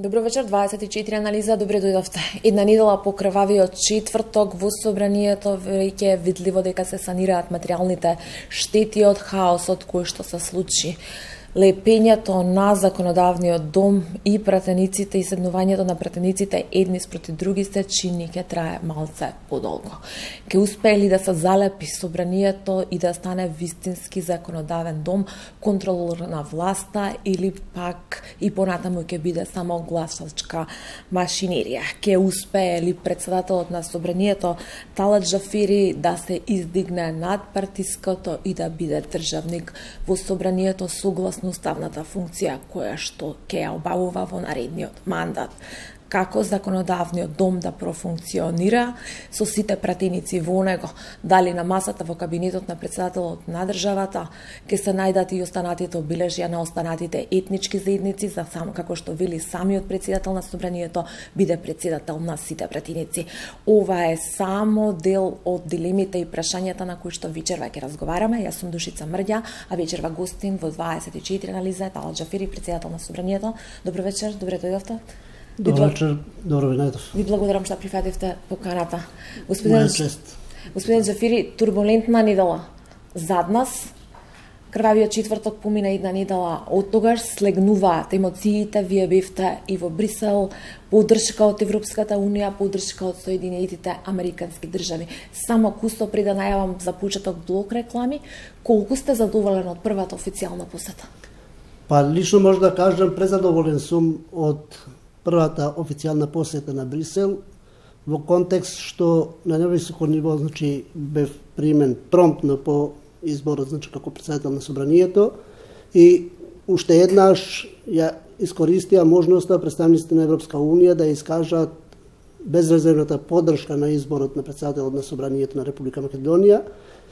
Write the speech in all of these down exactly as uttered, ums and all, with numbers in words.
Добро вечер, дваесет и четири анализа, добре дојдовте. Една недела по крвавиот четврток во собранието веќе е видливо дека се санираат материјалните штети од хаосот кој што се случи. Лепењето на законодавниот дом и пратениците и седнувањето на пратениците едни спроти други се чини ќе трае малце подолго. Ке успее ли да се залепи собранието и да стане вистински законодавен дом, контролор на власта или пак и понатаму ќе биде само гласачка машинерија? Ке успее ли председателот на собранието Талат Джафери да се издигне над партиското и да биде државник во собранието согласно уставната функција која што ќе ја обавува во наредниот мандат? Како законодавниот дом да профункционира со сите пратеници во него? Дали на масата во кабинетот на председателот на државата ќе се најдат и останатите обележја на останатите етнички заедници, за само како што вели самиот председател на собранието биде председател на сите пратеници? Ова е само дел од дилемите и прашањата на кои што вечерва ќе разговараме. Јас сум Душица Мрѓа, а вечерва гостин во дваесет и четири анализа Талат Джафери, председател на собранието. Добро вечер, добре дојдовте. Добро вечер, добро ви најдов. Ви благодарам што прифативте поканата. Господин, господин Джафери, турбулентна недела зад нас. Крвавиот четврток помина една недела од тогаш, слегнуваат емоциите, вие бевте и во Брисел, поддршка од Европската Унија, поддршка од Соединетите Американски држави. Само кусто пред да најавам за почеток блок реклами, колку сте задоволен од првата официјална посета? Па лично може да кажам, презадоволен сум од првата официјална посета на Брисел, во контекст што на невисоко ниво, значи, бев примен промптно по изборот, значи, како председател на собранието, и уште еднаш ја искористија можноста представниците на Европска Унија да искажат безрезервната поддршка на изборот на председателот на собранието на Република Македонија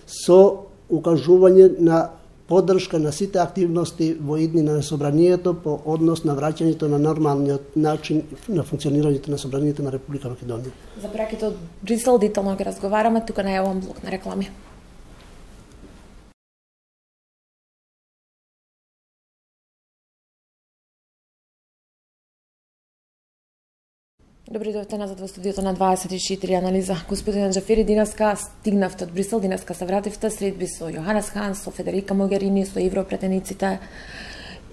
со укажување на поддршка на сите активности во иднина на собранието по однос на враќањето на нормалниот начин на функционирањето на собранието на Република Македонија. За браките од Брисел детално ќе разговараме, тука најавам блок на реклами. Добри дојдовте назад во студиото на дваесет и четири анализа. Господин Джафери, денеска стигнавте од Брисел, денеска се вративте, средби со Јоханес Хан, со Федерика Могерини, со европретениците.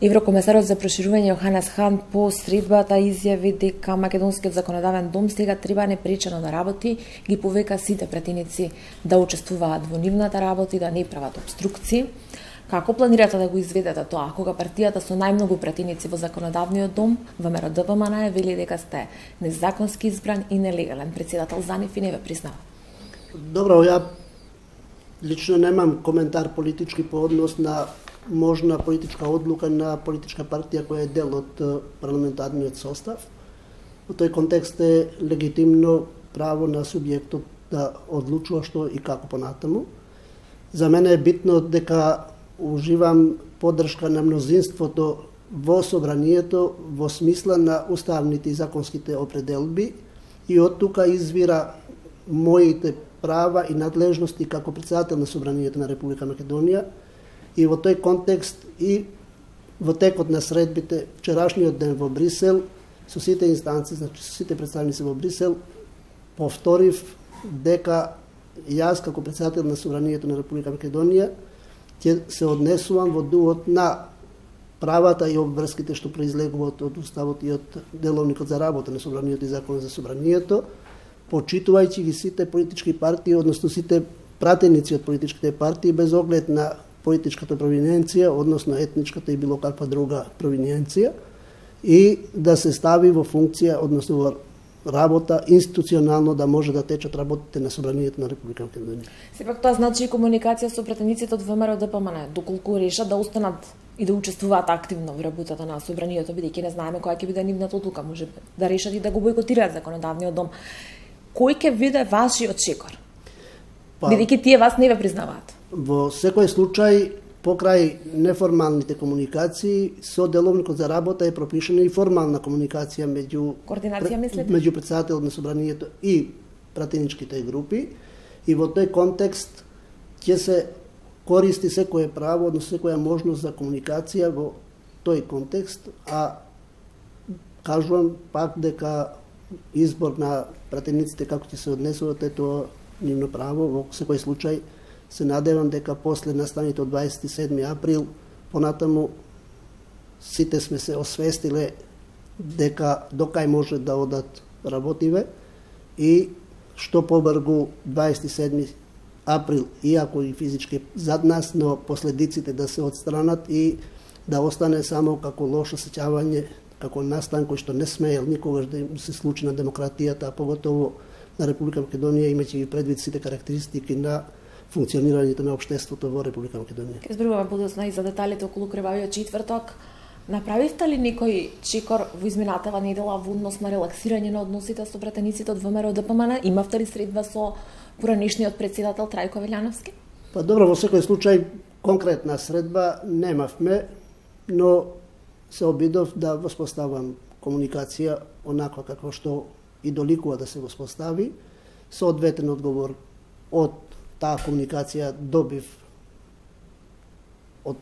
Еврокомесарот за проширување Јоханес Хан по средбата изјави дека македонскиот законодавен дом сега треба непречено да работи, ги повека сите пратеници да учествуваат во нивната работа и да не прават обструкции. Како планирате да го изведете тоа, кога партијата со најмногу пратеници во законодавниот дом, ВМРО Д P M N, вели дека сте незаконски избран и нелегален председател за нив и не ве признава? Добро, ја лично немам коментар политички по однос на можна политичка одлука на политичка партија која е дел од парламентарниот состав. Во тој контекст е легитимно право на субјектот да одлучува што и како понатаму. За мене е битно дека уживам поддршка на мнозинството во собранието во смисла на уставните и законските определби и од тука извира моите права и надлежности како председател на собранието на Република Македонија, и во тој контекст и во текот на средбите вчерашниот ден во Брисел со сите инстанции, значи со сите представници во Брисел, повторив дека јас како председател на собранието на Република Македонија ќе се однесувам во дуот на правата и обврските што произлегуваат од уставот и од деловникот за работа на собранието и законот за собранието, почитувајќи ги сите политички партии, односно сите пратеници од политичките партии, без оглед на политичката провиненција, односно етничката и било каква друга провиненција, и да се стави во функција, односно во работа институционално да може да течат работите на собранието на Република Македонија. Сепак тоа значи и комуникација со пратениците од ВМРО Д P M N, доколку решат да останат и да учествуваат активно во работата на собранието, бидејќи не знаеме која ќе биде нивната одлука, може да решат и да го бойкотираат законодавниот дом. Кој ќе биде вашиот чекор? Па, бидејќи тие вас не ве признаваат. Во секој случај, покрај неформалните комуникации, со деловникот за работа е пропишена и формална комуникација меѓу координација, мислите? Меѓу председателот на собранието и пратеничките групи, и во тој контекст ќе се користи секое право, односно секоја можност за комуникација во тој контекст, а кажувам пак дека избор на пратениците како ќе се однесуваат е тоа нивно право. Во секој случај се надевам дека после настаните од дваесет и седми април понатаму сите сме се освестиле дека докај може да одат работиве и што побрзо дваесет и седми април, иако и физички зад нас, но последиците да се отстранат и да остане само како лошо сеќавање, како настан кој што не смеел никогаш да им се случи на демократијата, а поготово на Република Македонија, имајќи предвид сите карактеристики на функционирањето на општеството во Република Македонија. Ке зборуваме подоцна и за деталите околу крвавиот четврток. Направивте ли некој чекор во изминатава недела во однос на релаксирање на односите со пратениците од ВМРО Д П М Н? Имавте ли средба со поранешниот претседател Трајко Велјановски? Па добро, во секој случај конкретна средба немавме, но се обидов да воспоставам комуникација онаква како што и доликува да се воспостави. Соодветен одговор од таа комуникација добив од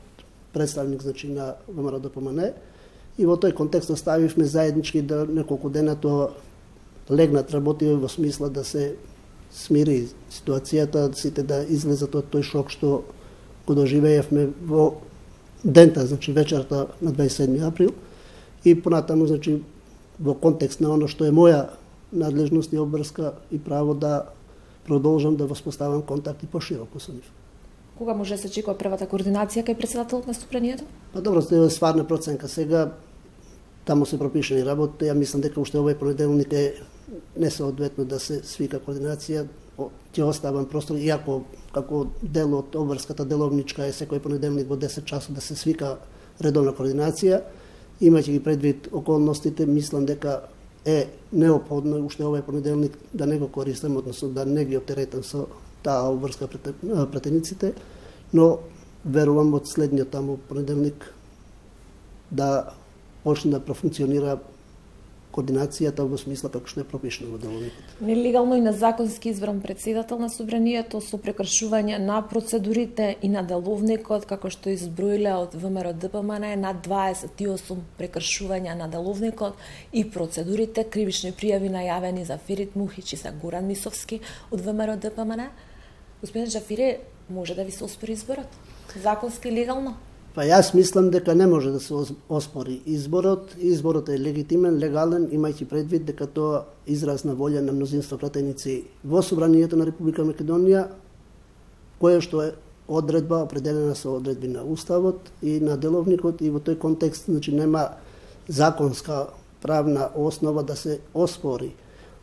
представник, значи, на ВМРО Д П М Н, и во тој контекст оставивме заеднички да неколку дена тоа легнат работи во смисла да се смири ситуацијата, сите да излезат од тој шок што го доживеевме во дента, значи вечерта на дваесет и седми април, и понатаму, значи, во контекст на оно што е моја надлежност и обврска и право да продолжам да воспоставам контакти пошироко со нив. Кога може да се очекува првата координација кај претседателот на Собранието? Па добро, тоа е стварна проценка. Сега таму се пропишани работи, ја мислам дека уште овој понеделник е несоодветно да се свика координација. Ќе оставам простор, иако како дел од обврската деловничка е секој понеделник во десет часот да се свика редовна координација. Имајќи ги предвид околностите, мислам дека е неопходно уште овој понеделник да не го користам, односно да не ги оптеретам со таа обврска пратениците, но верувам од следниот таму понеделник да почне да профункционира координацијата во смисла како што е пропишано во деловникот. Нелегално и незаконски избран претседател на Собранието со прекршување на процедурите и на деловникот, како што изброиле од ВМРО Д П М Н, на дваесет и осум прекршувања на деловникот и процедурите, кривични пријави најавени за Ферит Мухич и за Горан Мисовски од ВМРО Д П М Н. Господин Джафири, може да ви се оспори изборот? Законски и легално? Па јас мислам дека не може да се оспори изборот. Изборот е легитимен, легален, имајќи предвид дека тоа израз на волја на мнозинство пратеници во Собранието на Република Македонија, кое што е одредба определена со одредби на Уставот и на деловникот, и во тој контекст, значи, нема законска правна основа да се оспори.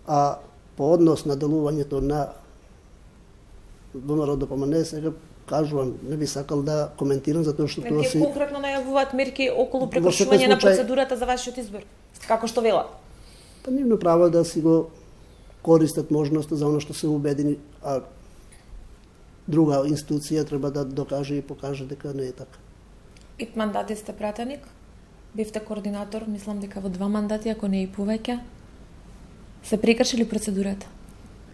А по однос на делувањето на ВМРО Д П М Н, сега кажувам, не би сакал да коментирам затоа што тоа се конкретно најавуваат мерки околу прекршување на процедурата за вашиот избор. Како што велат? Па нивно право да си го користат можноста за оно што се убедени, а друга институција треба да докаже и покаже дека не е така. Пет мандати сте пратеник, бевте координатор, мислам дека во два мандати, ако не и повеќе. Се прекршили процедурата?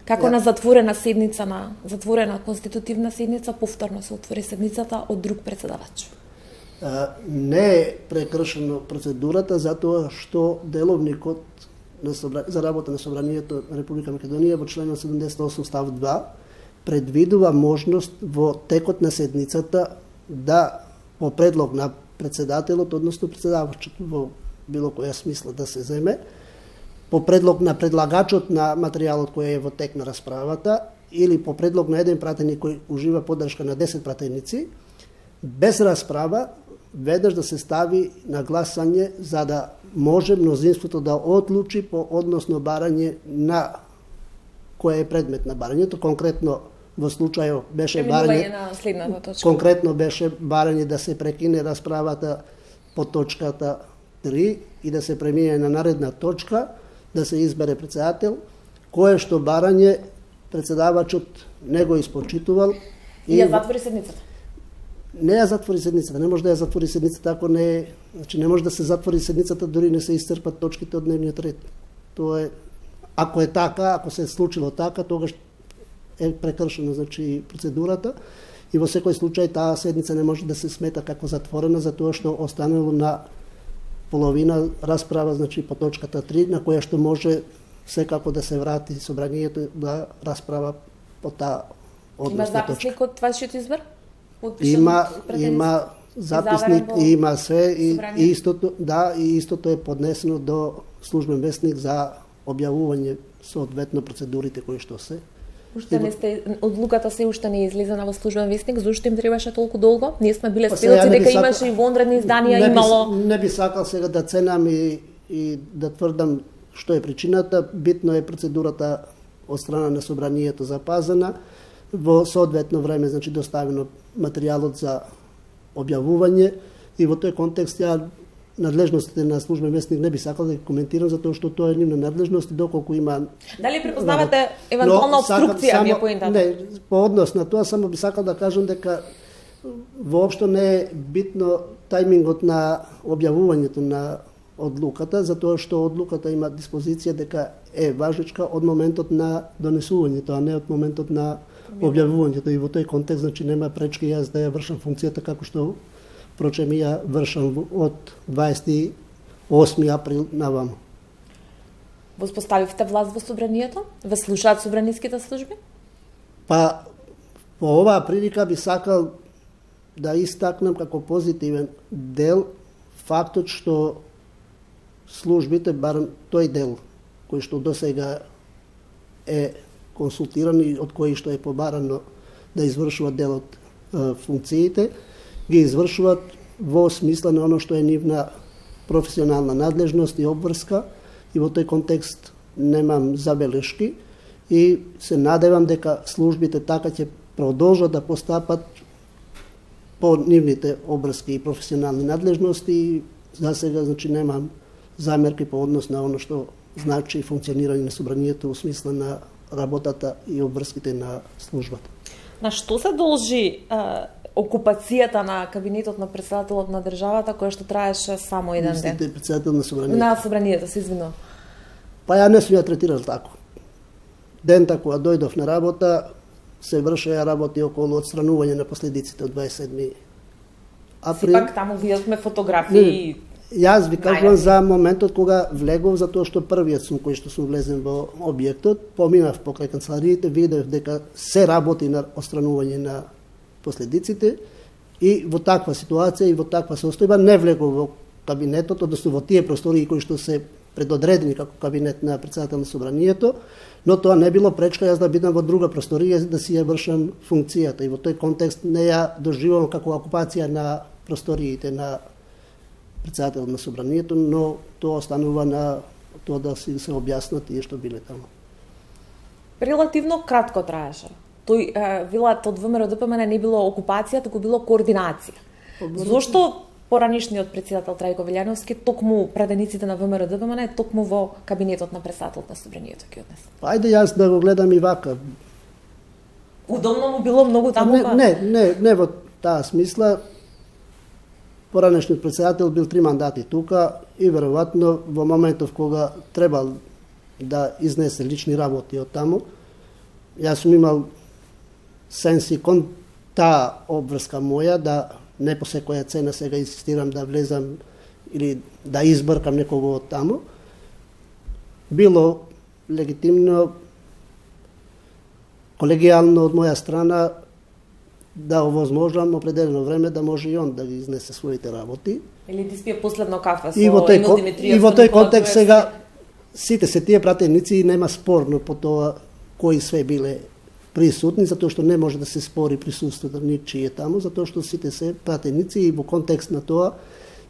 Како ja. На затворена седница, на затворена конститутивна седница, повторно се отвори седницата од друг претседавач? А, не е прекршена процедурата, затоа што деловникот на собра... за работа на Собранието на Република Македонија во член седумдесет и осум став два предвидува можност во текот на седницата да по предлог на претседателот, односно претседавачот во било која смисла да се земе, по предлог на предлагачот на материјалот кој е во тек на расправата или по предлог на еден пратеник кој ужива поддршка на десет пратеници, без расправа веднаш да се стави на гласање за да може мнозинството да одлучи по односно барање на кој е предмет на барањето. Конкретно во случајот беше барање на следната точка. Конкретно беше барање да се прекине расправата по точката три и да се премине на наредна точка, да се избере претседател, кое што барање претседавачот не го испочитувал и ја затвори седницата. Не ја затвори седницата, не може да ја затвори седницата ако не е, значи не може да се затвори седницата дури не се исцрпат точките од дневниот ред. Тоа е, ако е така, ако се е случило така, тогаш е прекршена, значи, процедурата и во секој случај таа седница не може да се смета како затворена затоа што останало на половина расправа, значи по точката три, на која што може секако да се врати собранието да расправа по таа односна точка. Има записник од вашиот избор? Има, има записник и има све и, и истото, да, и истото е поднесено до службен вестник за објавување соодветно процедурите кои што се. Уште не сте, одлуката се уште не е излезена во службен вестник, зошто им требаше толку долго? Ние сме биле сведоци дека сакал, имаше и вонредни изданија, не имало... Би, не би сакал сега да ценам и, и да тврдам што е причината. Битно е процедурата од страна на собранието запазена, во соодветно време, значи доставено материјалот за објавување и во тој контекст ја надлежностите на службен вестник не би сакал да ги коментирам, затоа што тоа е нивна надлежност и доколку има... Дали препознавате евентуална обструкција, ми е поентата? Не, по однос на тоа само би сакал да кажам дека воопшто не е битно тајмингот на објавувањето на одлуката, затоа што одлуката има диспозиција дека е важечка од моментот на донесувањето, а не од моментот на објавувањето. И во тој контекст, значи, нема пречки јас да ја вршам функцијата како што впрочем ја вршам од дваесет и осми април наваму. Воспоставивте власт во собранието? Ве слушаат собраниските служби? Па, по оваа прилика би сакал да истакнам како позитивен дел фактот што службите, барем тој дел кој што досега е консултиран и од кој што е побарано да извршуваат дел од е, функциите, ги извршуваат во смисла на оно што е нивна професионална надлежност и обврска, и во тој контекст немам забелешки и се надевам дека службите така ќе продолжат да постапат по нивните обврски и професионални надлежности и за сега, значи, немам замерки по однос на оно што значи функционирање на собранието во смисла на работата и обврските на службата. На што се должи е, окупацијата на кабинетот на председателот на државата, која што траеше само еден ден? Мислите председател на собранието? На собранието, се извинувам. Па ја не сум ја третирал тако. Дента кога дојдов на работа, се вршеа работи околу отстранување на последиците од дваесет и седми април. Сепак таму видовме фотографии. Јас ви кажувам за моментот кога влегов, затоа што првиот сум кој што сум влезен во објектот, поминав покрај канцелариите, видев дека се работи на отстранување на последиците и во таква ситуација и во таква состојба не влегов во кабинетот, односно во тие простории кои што се предодредени како кабинет на председател на собранието, но тоа не било пречка јас да бидам во друга просторија да си ја вршам функцијата и во тој контекст не ја доживувам како окупација на просториите на председател на собранието, но тоа останува на тоа да си се објаснат тие што биле таму. Релативно кратко траеше. Тој вилат од ВМРО-ДПМН не било окупација, туку било координација. Зошто поранишниот председател Трајко Велјановски токму пратениците на ВМРО-ДПМН токму во кабинетот на председателот на собранието ќе однесе? Ајде јас да го гледам и вака. Удобно му било многу таму? Не, не, не, не во таа смисла. Поранешниот председател бил три мандати тука и веројатно во моментов кога требал да изнесе лични работи од таму, јас сум имал сенси кон таа обврска моја да не по секоја цена сега инсистирам да влезам или да избркам некого од таму. Било легитимно, колегијално од моја страна да овозможам определено време да може и он да ги изнесе своите работи. Или да спие последно кафе со Емил Димитриевски. И во тој контекст сега сите се тие пратеници и нема спорно по тоа кои све биле присутни, затоа што не може да се спори присуството ничие таму, затоа што сите се пратеници и во контекст на тоа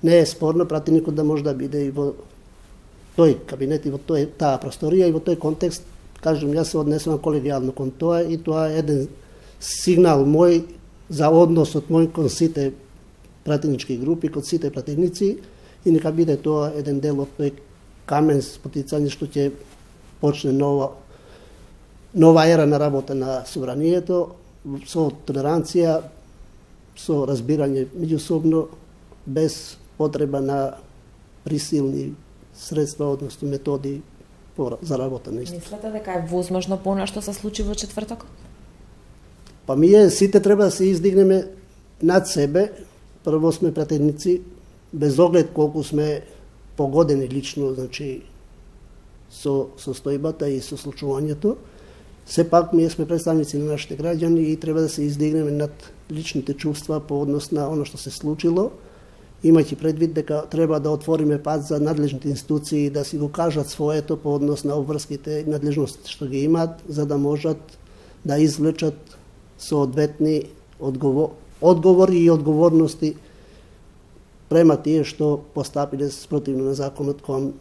не е спорно пратеникот да може да биде и во тој кабинет и во тој таа просторија и во тој контекст, кажам, јас се однесувам колегијално кон тоа и тоа е еден сигнал мој за односот мој кон сите пратенички групи, кон сите пратеници и нека биде тоа еден дел од тој камен спотицање што ќе почне нова нова ера на работа на собранието со толеранција, со разбирање меѓусобно, без потреба на присилни средства, односно методи за работа на исто. Мислите дека е возможно понешто се случи во четвртокот? Па ние сите треба да се издигнеме над себе. Прво сме пратеници, без оглед колку сме погодени лично, значи, со состојбата и со случувањето. Сепак, ние сме представници на нашите граѓани и треба да се издигнеме над личните чувства по однос на оно што се случило, имајќи предвид дека треба да отвориме пат за надлежните институции да си го кажат своето по однос на обврските и надлежностите што ги имаат, за да можат да извлечат соодветни одговор, одговори и одговорности према тие што постапиле спротивно на законот кон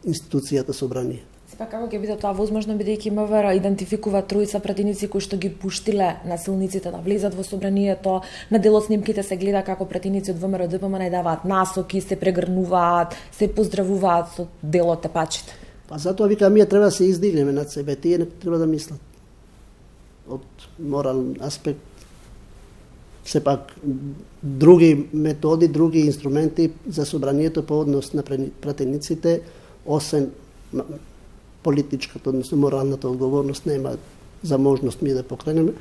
институцијата собрание. Сепак како ќе биде тоа возможно, бидејќи МВР идентификува тројца пратеници кои што ги пуштиле насилниците да влезат во собранието, на дел од снимките се гледа како пратеници од ВМРО Д P M N даваат насоки, се прегрнуваат, се поздравуваат со дел од тепачите. Па затоа викам, ние треба да се издигнеме над себе, тие не треба да мислат од морален аспект. Сепак други методи, други инструменти за собранието по однос на пратениците, освен политичката, односно моралната одговорност, нема за можност ми да покренеме,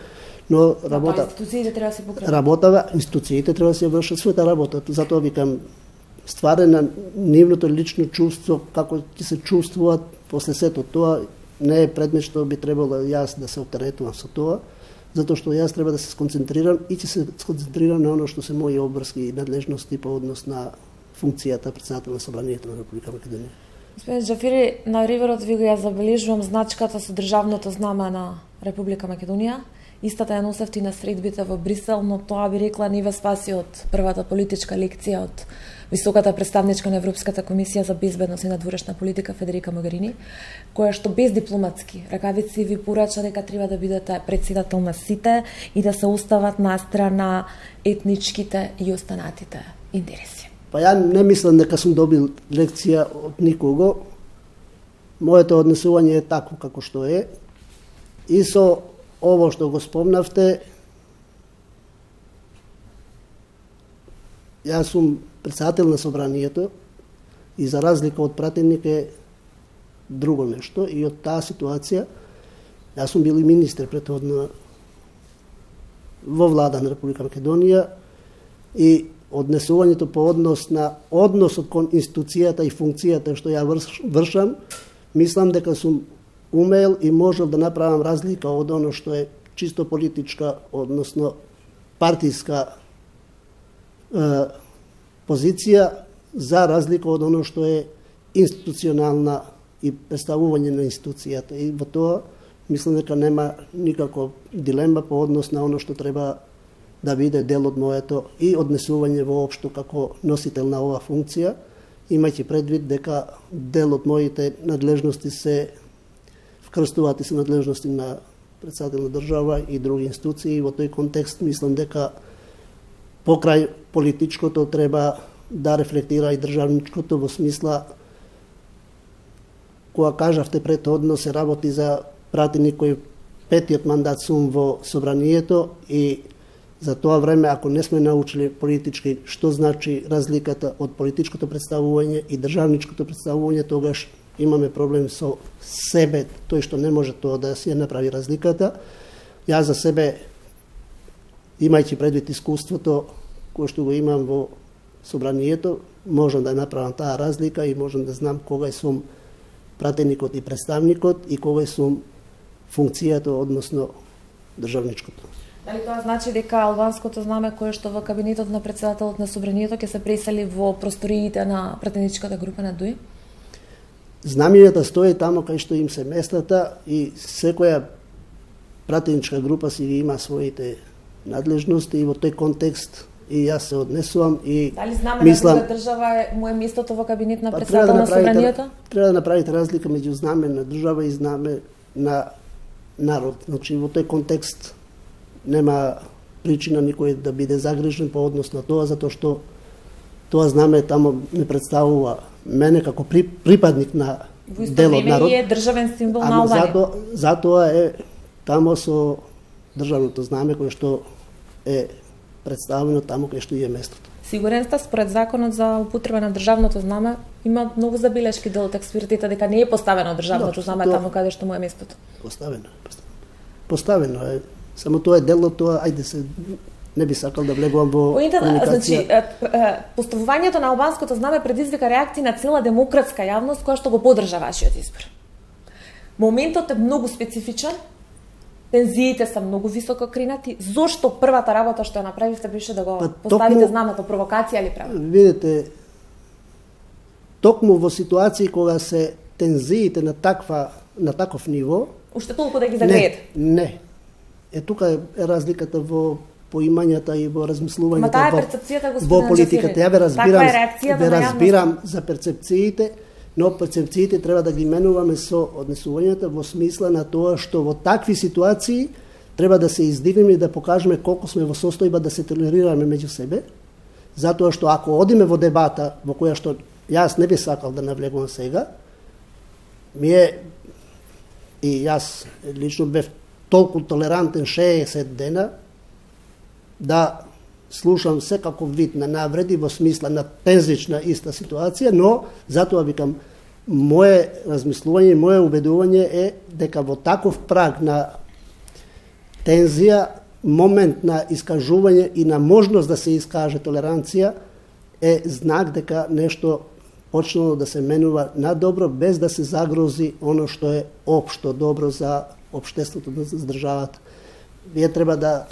но работа... Институциите треба да се покренат. Работа, институциите треба да се вршат својата работа. Затоа викам, стварена нивното лично чувство, како ќе се чувствуваат после сето тоа, не е предмет што би требало јас да се оптеретувам со тоа, затоа што јас треба да се сконцентрирам и ќе се сконцентрирам на оно што се мои обврски и надлежности по однос на функцијата председател на Собранието на Република Македонија. Господин Џафери, на риверот ви го ја забележувам значката со државното знаме на Република Македонија. Истата ја носевте на средбите во Брисел, но тоа би рекла не ве спаси од првата политичка лекција од високата представничка на Европската комисија за безбедност и надворешна политика Федерика Могерини, која што без дипломатски ракавици ви порача дека треба да бидете председател на сите и да се остават на страна етничките и останатите интереси. Па ја не мислам дека сум добил лекција од никого. Моето однесување е такво како што е. И со ово што го спомнавте, јас сум председател на Собранието и за разлика од пратеник е друго нешто и од таа ситуација јас сум бил и министер претходно во влада на Република Македонија и однесувањето по однос на односот кон институцијата и функцијата што ја вршам, мислам дека сум умел и можел да направам разлика од оно што е чисто политичка, односно партиска е, позиција, за разлика од оно што е институционална и представување на институцијата. И во тоа мислам дека нема никаква дилема по однос на оно што треба да биде дел од моето и однесување воопшто како носител на оваа функција, имајќи предвид дека дел од моите надлежности се вкрстуваат и се надлежности на председател на држава и други институции. И во тој контекст мислам дека покрај политичкото треба да рефлектира и државничкото во смисла, кога кажавте претходно се работи за пратеник кој петиот мандат сум во Собранието и за тоа време, ако не сме научили политички што значи разликата од политичкото представување и државничкото представување, тогаш имаме проблем со себе, тој што не може тоа да се направи разликата. Јас за себе, имајќи предвид искуството кое што го имам во Собранието, можам да направам таа разлика и можам да знам кога сум пратеникот и представникот и кога сум функцијата, односно државничкото. Дали тоа значи дека албанското знаме кое што во кабинетот на председателот на Собранието ќе се пресели во просториите на пратеничката група на ДУИ? Знамињата стои тамо кај што им се местата и секоја пратеничка група си има своите надлежности и во тој контекст и јас се однесувам и дали знаме мислам, на друга држава е му е местото во кабинет на па, председател да на Собранието? Треба да направите разлика меѓу знаме на држава и знаме на народ. Значи во тој контекст нема причина никој да биде загрижен по однос на тоа, затоа што тоа знаме тамо не представува мене како при, припадник на дел од народ. Во исто време е државен символ на Албанија. Затоа, затоа е тамо со државното знаме кое што е представено тамо кај што е местото. Сигурен сте, според законот за употреба на државното знаме, има многу забелешки дел од експертите дека не е поставено државното знаме тоа... таму каде што му е местото. Поставено, поставено. Поставено е. Само тоа е дел од тоа, ајде се не би сакал да влегувам во комуникација. Значи, поставувањето на албанското знаме предизвика реакции на цела демократска јавност која што го поддржа вашиот избор. Моментот е многу специфичен, тензиите се многу високо кринати. Зошто првата работа што ја направивте беше да го па, поставите токму, знамето провокација или право? Видите, токму во ситуации кога се тензиите на таква на таков ниво, уште толку да ги загреете. Не, не. Е тука е разликата во поимањата и во размислувањето. Ма таа е перцепцијата, во политиката. Ја ве разбирам, ве разбирам за перцепциите, но перцепциите треба да ги менуваме со однесувањата во смисла на тоа што во такви ситуации треба да се издигнеме и да покажеме колку сме во состојба да се толерираме меѓу себе, затоа што ако одиме во дебата во која што јас не би сакал да навлегувам сега, ми е и јас лично бев толку толерантен шеесет дена да слушам секаков вид на навреди во смисла на тензична иста ситуација, но затоа викам, мое размислување, мое убедување е дека во таков праг на тензија, момент на искажување и на можност да се искаже толеранција е знак дека нешто почнало да се менува на добро, без да се загрози оно што е општо добро за општеството, за државата. Вие треба да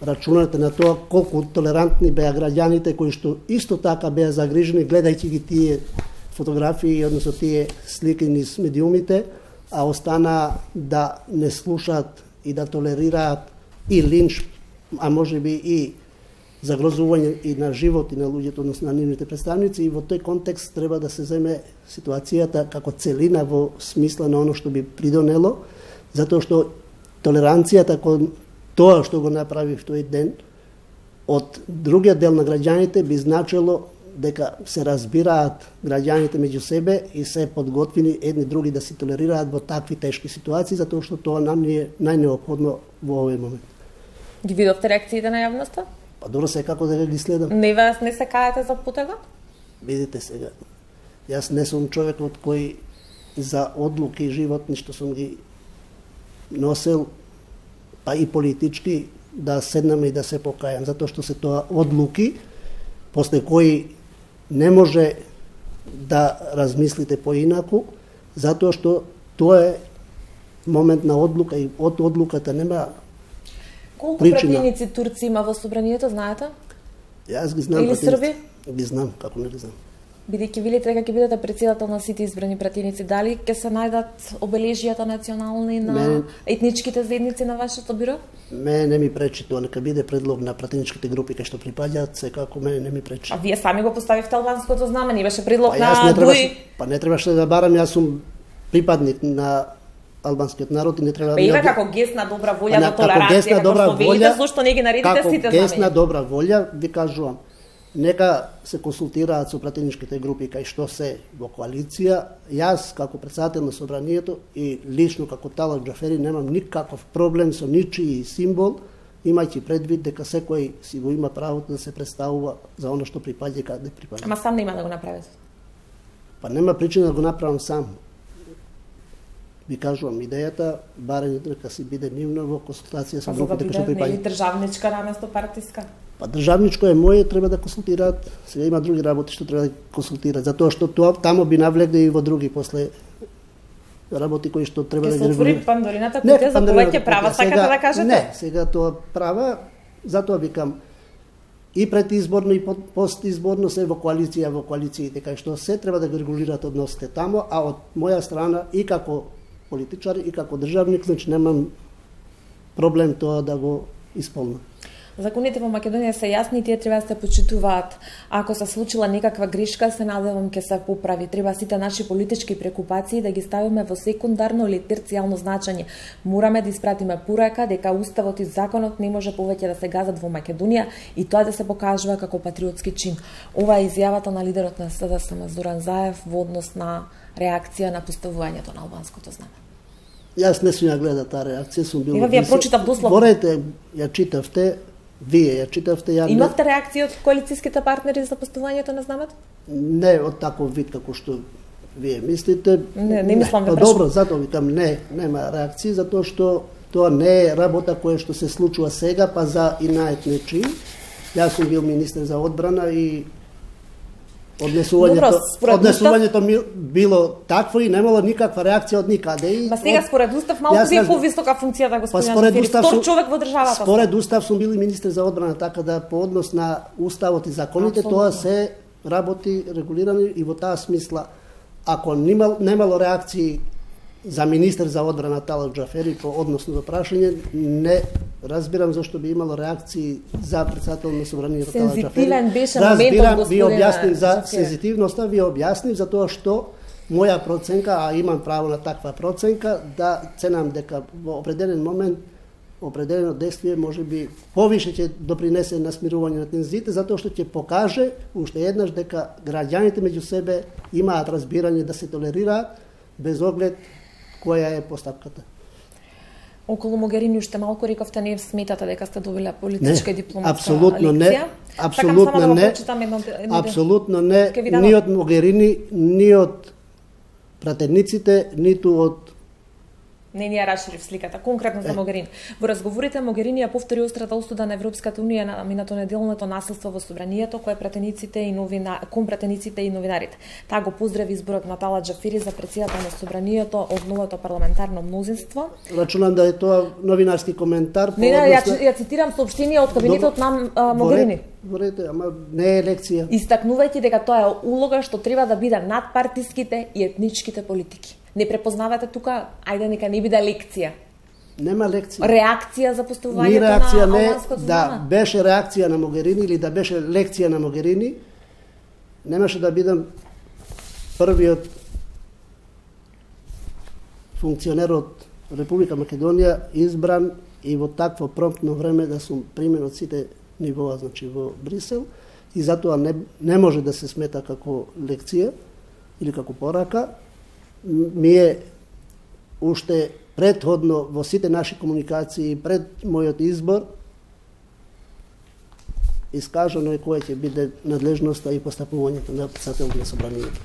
рачунате на тоа колку толерантни беа граѓаните кои што исто така беа загрижени гледајќи ги тие фотографии, односно тие слики низ медиумите, а остана да не слушаат и да толерираат и линч, а може би и загрозување и на живот и на луѓето, односно на нивните представници, и во тој контекст треба да се земе ситуацијата како целина во смисла на оно што би придонело, затоа што толеранцијата кон тоа што го направив тој ден од другиот дел на граѓаните би значило дека се разбираат граѓаните меѓу себе и се подготвени едни други да се толерираат во такви тешки ситуации, затоа што тоа нам ни е најнеопходно во овој момент. Ги видовте реакциите на јавноста? Па добро, се како да ги следам. Не вас не се каете за потегот? Видите сега, јас не сум човекот кој за одлуки животни што сум ги носел, па и политички, да седнаме и да се покајам, затоа што се тоа одлуки, после кои не може да размислите поинаку, затоа што тоа е момент на одлука и од одлуката нема Колку причина. пратеници турци има во собранието, знаете? Јас ги знам. Или срби? Ги знам, како не ги знам. Бидејќи велите дека ќе бидете председател на сите избрани пратеници, дали ќе се најдат обележијата национални на Мен... етничките заедници на вашето биро? Мене не ми пречи тоа, нека биде предлог на пратеничките групи кај што припаѓаат, секако мене не ми пречи. А вие сами го поставивте албанското знаме, не беше предлог па, на Дуи? Па не требаше да барам, јас сум припадник на албанскиот народ и не треба... Па има како гест на добра волја до толеранција, како што велите, зошто не ги наредите сите Како гест на добра волја, ви кажувам, нека се консултираат со пратеничките групи кај што се во коалиција. Јас, како председател на собранието и лично како Талат Џафери, немам никаков проблем со ничии символ, имајќи предвид дека секој си го има правото да се представува за оно што припаѓа и каде припаѓа. Ама сам нема да го направите? Па нема причина да го направам сам. Ви кажувам, идејата, барем дека си биде нивно во консултација со групите кои што припаѓаат. Не е државничка наместо партиска? Па државничко е моје, треба да консултираат. Сега има други работи што треба да консултираат, затоа што тоа тамо би навлегле и во други после работи кои што треба да ги регулираат. Ке се отвори Пандорината кутија за повеќе права, сакате да кажете? Не, сега тоа права, затоа викам и предизборно и постизборно се во коалиција, во коалициите кај што се треба да ги регулираат односите тамо, а од моја страна и како политичар и како државник, значи немам проблем тоа да го исполнам. Законите во Македонија се јасни и тие треба да се почитуваат. Ако се случила некаква грешка, се надевам ќе се поправи. Треба сите наши политички прекупации да ги ставиме во секундарно или терцијално значење. Мораме да испратиме порака дека уставот и законот не може повеќе да се газат во Македонија и тоа да се покажува како патриотски чин. Ова е изјавата на лидерот на СДСМ Зоран Заев во однос на реакција на поставувањето на албанското знаме. Јас не сум ја гледа таа реакција, сум бил... Ева, вие прочитав дословно. Борете, ја читавте, вие ја читавте, ја... Имавте реакција од коалицијските партнери за поставувањето на знамето? Не од таков вид како што вие мислите? Не, не мислам да. Па добро, затоа викам не, нема реакции, затоа што тоа не е работа која што се случува сега, па за инает нечи. Јас сум бил министер за одбрана и однесувањето, однесувањето ми било такво и немало никаква реакција од никаде. И Ба сега според устав малку ви повисока функцијата господин Џафери, втор човек во државата. Според устав сум бил и министер за одбрана, така да по однос на уставот и законите тоа се работи регулирани и во таа смисла, ако немало, немало реакции за министер за одбрана Талат Џафери по односно до прашање, не разбирам зашто би имало реакции за председател на собранието Талат Џафери. Сензитивен беше моментот, господине. Ви објаснив за сензитивноста, ви објаснив за тоа што моја проценка, а имам право на таква проценка, да ценам дека во определен момент определено действие може би повише ќе допринесе на смирување на тензиите, затоа што ќе покаже уште еднаш дека граѓаните меѓу себе имаат разбирање да се толерираат без оглед која е постапката. Околу Могерини уште малку рековте, не сметате дека сте добиле политичка и дипломатска апсолутно лекција? Не, апсолутно да не, едно, едно... апсолутно не, ни од Могерини, ни од пратениците, ниту од Не ни ја расширив сликата, конкретно за Могерини. Во разговорите Могерини ја повтори острата осуда на Европската унија на минато неделното насилство во собранието кое пратениците и новина, кон пратениците и новинарите. Таа го поздрави изборот на Талат Џафери за претседател на собранието од новото парламентарно мнозинство. Рачунам да е тоа новинарски коментар. Не, не, ја, ја цитирам соопштение од кабинетот на а, Могерини. Ворете, ама не е лекција. Истакнувајќи дека тоа е улога што треба да биде над партиските и етничките политики. Не препознавате тука, ајде нека не биде лекција. Нема лекција. Реакција за поставувањето Ни реакција на не, албанското да знаме. беше реакција на Могерини или да беше лекција на Могерини, немаше да бидам првиот функционер од Република Македонија избран и во такво промптно време да сум примен од сите нивоа, значи во Брисел, и затоа не, не може да се смета како лекција или како порака. Ми е уште предходно во сите наши комуникации пред мојот избор искажано е која ќе биде надлежноста и постапувањето на председателот на собранието.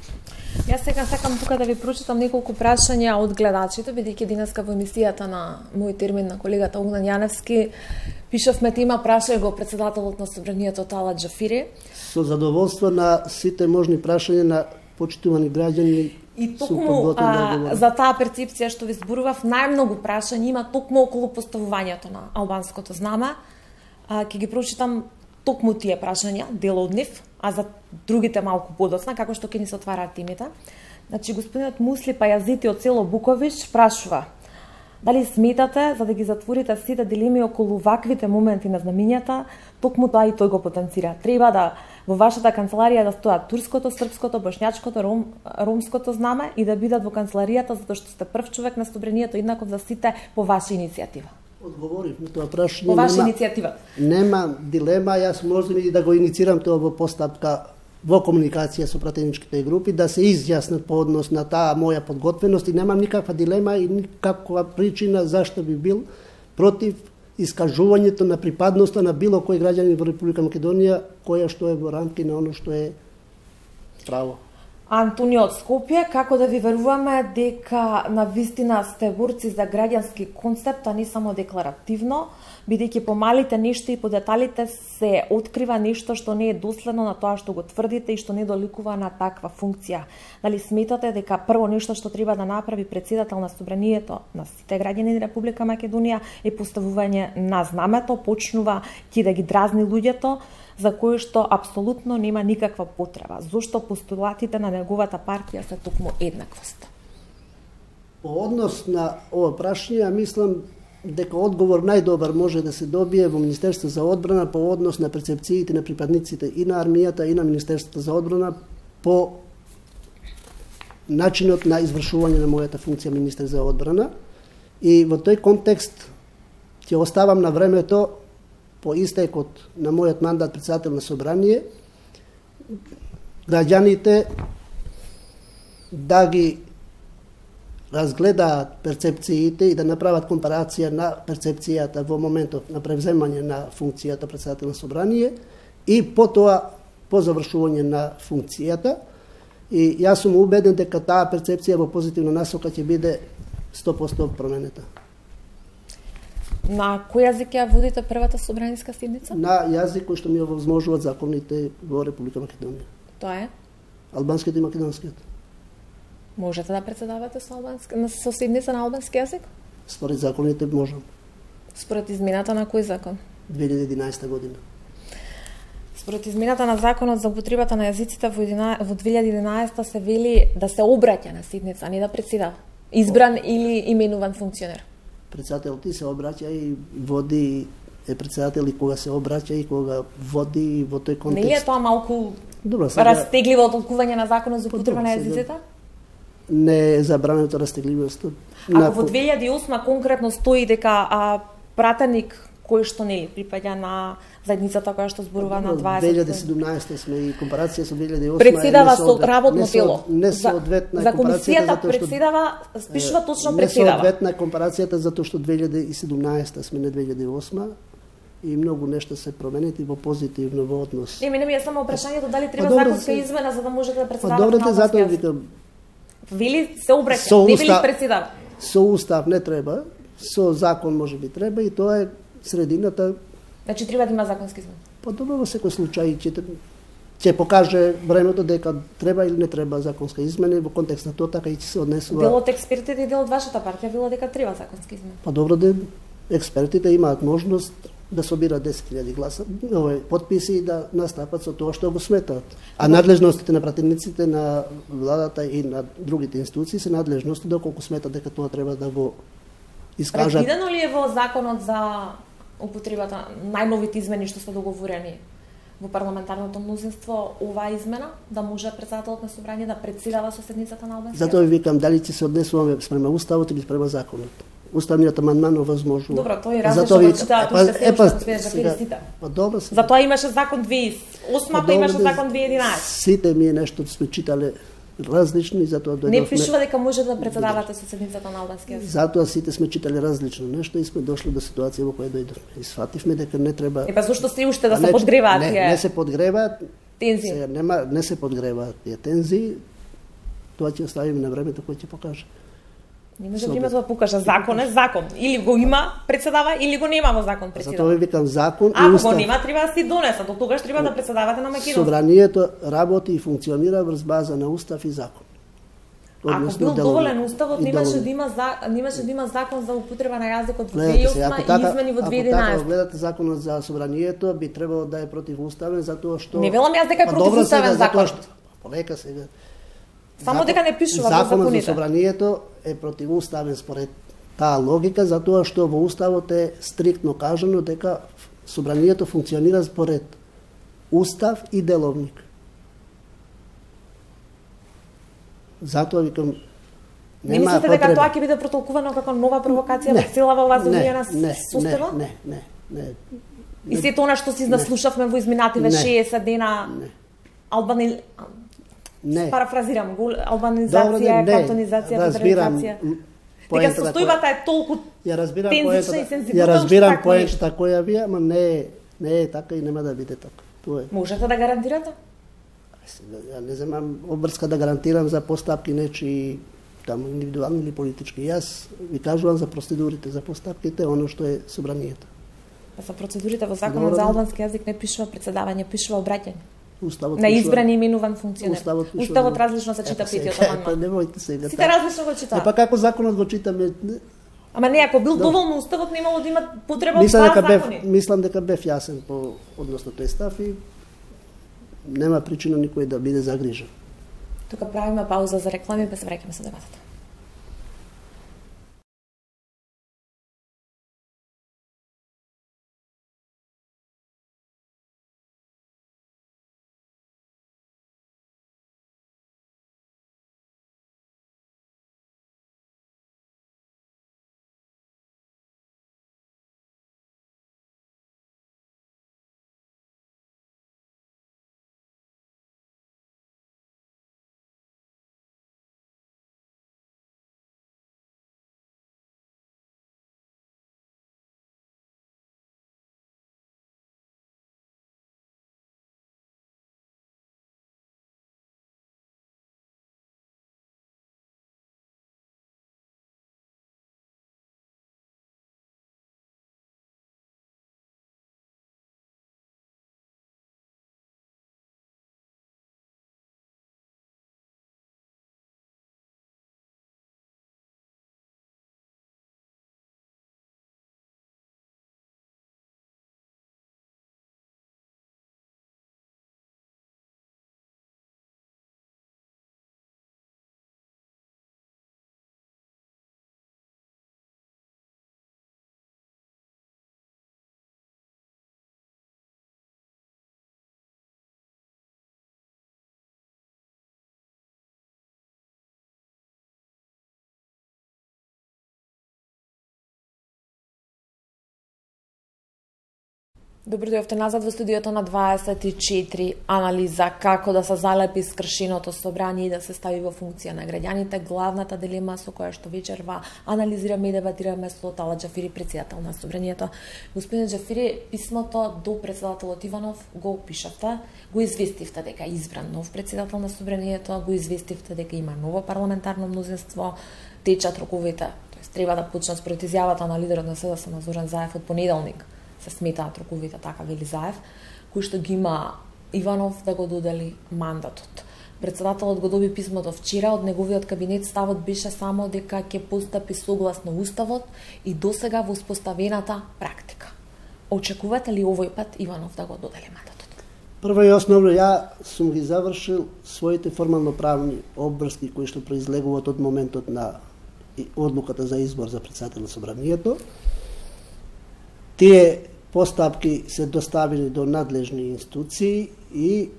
Јас сега сакам тука да ви прочитам неколку прашања од гледачите, бидејќи денеска во емисијата на мој термин на колегата Огнан Јаневски пишавме тема прашај го председателот на собранието Талат Џафери. Со задоволство на сите можни прашања на почитувани граѓани. И токму а, за таа перцепција што ви зборував, најмногу прашања има токму околу поставувањето на албанското знаме. А, ќе ги прочитам токму тие прашања, дел од нив, а за другите малку подоцна, како што ќе ни се отвараат темите. Значи, господинот Мусли Пајазити од село Буковиш прашува: дали сметате за да ги затворите сите дилеми околу ваквите моменти на знамињата, токму тоа и тој го потенцира. Треба да во вашата канцеларија да стоат турското, српското, бошњачкото, ром, ромското знаме и да бидат во канцеларијата затоа што сте прв човек на собранието, еднаков за сите по ваша иницијатива. Одговорив на тоа прашање. По ваша иницијатива. Нема дилема, јас можам и да го иницирам тоа во постапка во комуникација со пратеничките групи, да се изјаснат по однос на таа моја подготвеност и немам никаква дилема и никаква причина зашто би бил против искажувањето на припадноста на било кој граѓанин во Република Македонија, која што е во рамки на оно што е право. Антонио од Скопје, како да ви веруваме дека на вистина сте борци за граѓански концепт, а не само декларативно, бидејќи по малите нешта и по деталите се открива нешто што не е доследно на тоа што го тврдите и што не доликува на таква функција. Дали сметате дека прво нешто што треба да направи председател на собранието на сите граѓани на Република Македонија е поставување на знамето, почнува ќе да ги дразни луѓето, за кој што апсолутно нема никаква потреба. Зошто постулатите на неговата партија се токму еднаквост? По однос на ова прашање, мислам дека одговор најдобар може да се добие во Министерство за одбрана по однос на перцепциите на припадниците и на армијата и на Министерството за одбрана по начинот на извршување на мојата функција министер за одбрана. И во тој контекст ќе оставам на времето по истекот на мојот мандат председател на собрание граѓаните да ги разгледаат перцепциите и да направат компарација на перцепцијата во моментот на превземање на функцијата председател на собрание и потоа по завршување на функцијата И јас сум убеден дека таа перцепција во позитивна насока ќе биде сто проценти променета. На кој јазик ја водите првата собраниска седница? На јазик кој што ми овозможуваат законите во Република Македонија. Тоа е? Албанскиот и македонскиот. Можете да председавате со албански на со седница на албански јазик? Според законите можам. Според измената на кој закон? две илјади и единаесета година. Според измената на законот за употребата на јазиците во, во две илјади и единаесета се вели да се обраќа на седница, а не да председава. Избран О. или именуван функционер. Председател ти се обраќа и води, е председател и кога се обраќа и кога води во тој контекст. Не е тоа малку Добро, сега... растегливо толкување на законот за употреба на јазиците? Не е забрането растегливост. Ако на... во две илјади и осма конкретно стои дека а, пратеник кој што нели припаѓа на заедницата која што зборува на дваесет. две илјади и седумнаесета сме и компарација со две илјади и осма. Председава со работно тело. Не соодветна за комисијата председава, спишува точно председава. Не соодветна компарацијата затоа што две илјади и седумнаесета сме не две илјади и осма и многу нешта се променети во позитивно во однос. Не, мене ми е само прашањето дали треба па, законска измена за да можете да председавате. Па добро, затоа викам. Вели се обраќа, не вели председава. Со устав не треба, со закон можеби треба и тоа е средината. Значи треба да има законски измени. Па добро, во секој случај ќе ќе покаже времето дека треба или не треба законска измена во контекст на тоа така и ќе се однесува. Дел од експертите и дел од вашата партија вело дека треба законски измени. Па добро, да експертите имаат можност да собираат десет илјади гласа, овој потписи и да настапат со тоа што го сметаат. А надлежностите на пратениците на владата и на другите институции се надлежности доколку сметат дека тоа треба да го искажат. Предвидено ли е во законот за употребата најновите измени што се договорени во парламентарното мнозинство оваа измена да може председателот на собрание да председава со седницата на албански? Затоа ви викам дали ќе се однесуваме спрема уставот или спрема законот. Уставниот амандман овозможува. Добро, тој различно го читаат уште се па, уште за перисите. Па добро се. Затоа имаше закон две илјади и осма, па имаше закон две илјади и единаесета. Сите ми е нешто сме читале различно и затоа дојдовме. Не пишува дека може да председавате со седницата на албански јазик. Затоа сите сме читале различно нешто и сме дошли до ситуација во која дојдовме. И сфативме дека не треба. Е па зошто се уште да се подгреваат тие? Не, не се подгреваат тензии. Се нема не се подгреваат тие тензии. Тоа ќе оставиме на времето кое ќе покаже. Не може времето да покаже. Закон е закон. Или го има председава, или го нема во закон председава. Затоа ви викам закон и устав. Ако го нема, треба да си донесат. До тогаш треба да председавате на македонски. Собранието работи и функционира врз база на устав и закон. Ако бил доволен уставот, немаше да има за, немаше да има закон за употреба на јазикот во две илјади и осма и измени во две илјади и единаесета. Ако гледате законот за собранието, би требало да е противуставен затоа што не велам јас дека е противуставен закон. Полека сега. Само дека не пишува во законите. Законот за собранието е противуставен според таа логика затоа што во уставот е стриктно кажано дека собранието функционира според устав и деловник. Затоа викам не мислите дека тоа ќе биде протолкувано како нова провокација во целава оваа земја на состојба? Не, не, не, не. И сето она што си наслушавме во изминативе шеесет дена албани не. Парафразирам, албанизација, кантонизација, федерализација. Дека состојбата е толку ја разбирам тензична и сензитивна. Ја разбирам поентата која ви, ама не е, не е така и нема да биде така. Тоа е. Можете да гарантирате? Ја не земам обврска да гарантирам за постапки нечи таму индивидуални или политички. Јас ви кажувам за процедурите, за постапките, оно што е собранието. Па за процедурите во законот за албански јазик не пишува председавање, пишува обраќање. Уставот на избран и именуван функционер. Уставот, Уставот различно се чита петиот амандман. Па немојте сега. Сите различно го читаат. Е па како законот го читаме? Ама не, ако бил доволно уставот, немало да има потреба од тоа закони. Мислам дека бев јасен по односно тој став и нема причина никој да биде загрижен. Тука правиме пауза за реклами, па се враќаме со дебатата. Добро дојавте назад во студиото на дваесет и четири. Анализа како да се залепи скршеното собрание и да се стави во функција на граѓаните. Главната дилема со која што вечерва анализираме и дебатираме со Талат Џафири, председател на собранието. Господин Џафири, писмото до председателот Иванов го пишавте, го известивте дека е избран нов председател на собранието, го известивте дека има ново парламентарно мнозинство, течат роковите. Тоест треба да почнат според изјавата на лидерот на СДСМ Зоран Заев од понеделник. Се сметаат роковите, така вели Заев, кој што ги има Иванов да го додели мандатот. Председателот го доби писмото вчера, од неговиот кабинет ставот беше само дека ќе постапи согласно уставот и досега во успоставената практика. Очекувате ли овој пат Иванов да го додели мандатот? Прво и основно, ја сум ги завршил своите формално-правни обврски кои што произлегуваат од моментот на одлуката за избор за председател на собранието. Тие постапки се доставени до надлежни институции и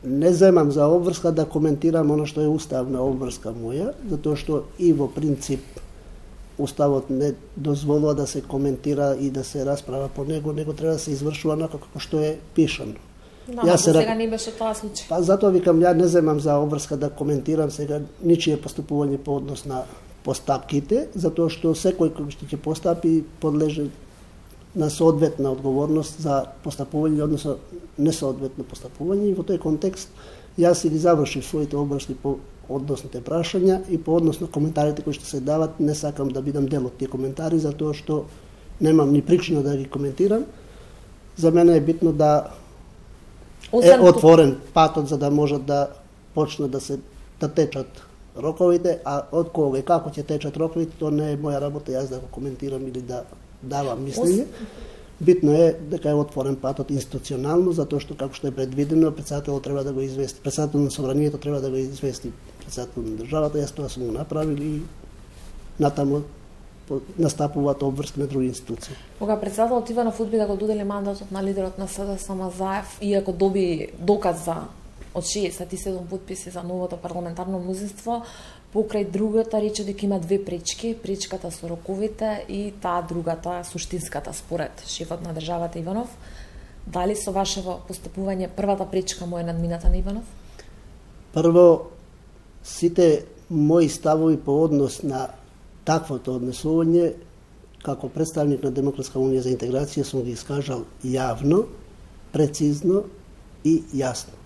не земам за обврска да коментирам оно што е уставна обврска моја, затоа што и во принцип уставот не дозволува да се коментира и да се расправа по него, него треба да се извршува онака како што е пишано. Да, ја се сега не беше тоа случај. Па затоа викам, ја не земам за обврска да коментирам сега ничие постапување по однос на постапките, затоа што секој кој што ќе постапи подлежи на соодветна одговорност за постапување, односно несоодветно постапување, и во тој контекст јас си ги завршив своите обврски по односните прашања и по однос на коментарите кои што се дават. Не сакам да бидам дел од тие коментари, затоа што немам ни причина да ги коментирам. За мене е битно да е отворен патот за да можат да почнат да се да течат роковите, а од кога и како ќе течат роковите, тоа не е моја работа јас да го коментирам или да давам мислење. Битно е дека е отворен патот институционално, затоа што како што е предвидено, председателот треба да го извести, председател на собранието треба да го извести председател на државата. Јас тоа сум го направил и натаму настапуваат обврски на други институции. Кога председателот Иванов одби да го додели мандатот на лидерот на СДСМ Заев, иако доби доказ за од шеесет и седум потписи за новото парламентарно мнозинство, покрај другата рече дека има две пречки, пречката со роковите и таа другата, суштинската според шефот на државата Иванов. Дали со вашево постапување првата пречка му е надмината на Иванов? Прво, сите мои ставови по однос на таквото однесување, како представник на Демократска унија за интеграција, сум ги искажал јавно, прецизно и јасно.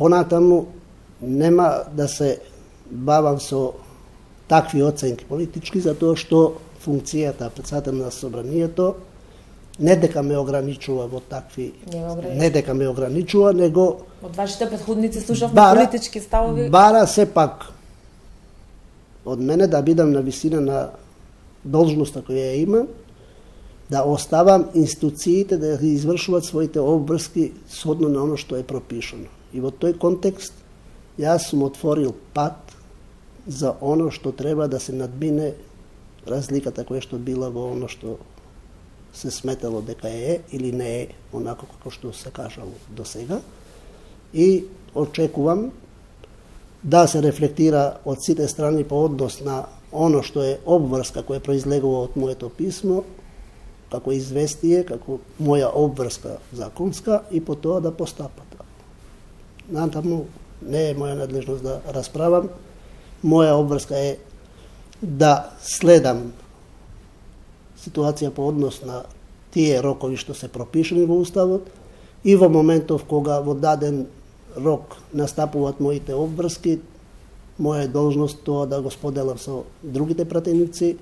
Понатаму нема да се бавам со такви оценки политички, затоа што функцијата председател на собранието не дека ме ограничува во такви, не, не дека ме ограничува, него од вашите претходници слушавме политички ставови. Бара сепак од мене да бидам на висина на должноста која ја имам, да оставам институциите да ги извршуваат своите обврски содно на оно што е пропишано. И во тој контекст јас сум отворил пат за оно што треба да се надмине разликата која што била во оно што се сметало дека е или не е онако како што се кажало до сега. И очекувам да се рефлектира од сите страни по однос на оно што е обврска која произлегува од моето писмо, како известие, како моја обврска законска, и по тоа да постапат. Натаму не е моја надлежност да расправам. Моја обврска е да следам ситуација по однос на тие рокови што се пропишани во уставот, и во моментов кога во даден рок настапуваат моите обврски, моја должност тоа да го споделам со другите пратеници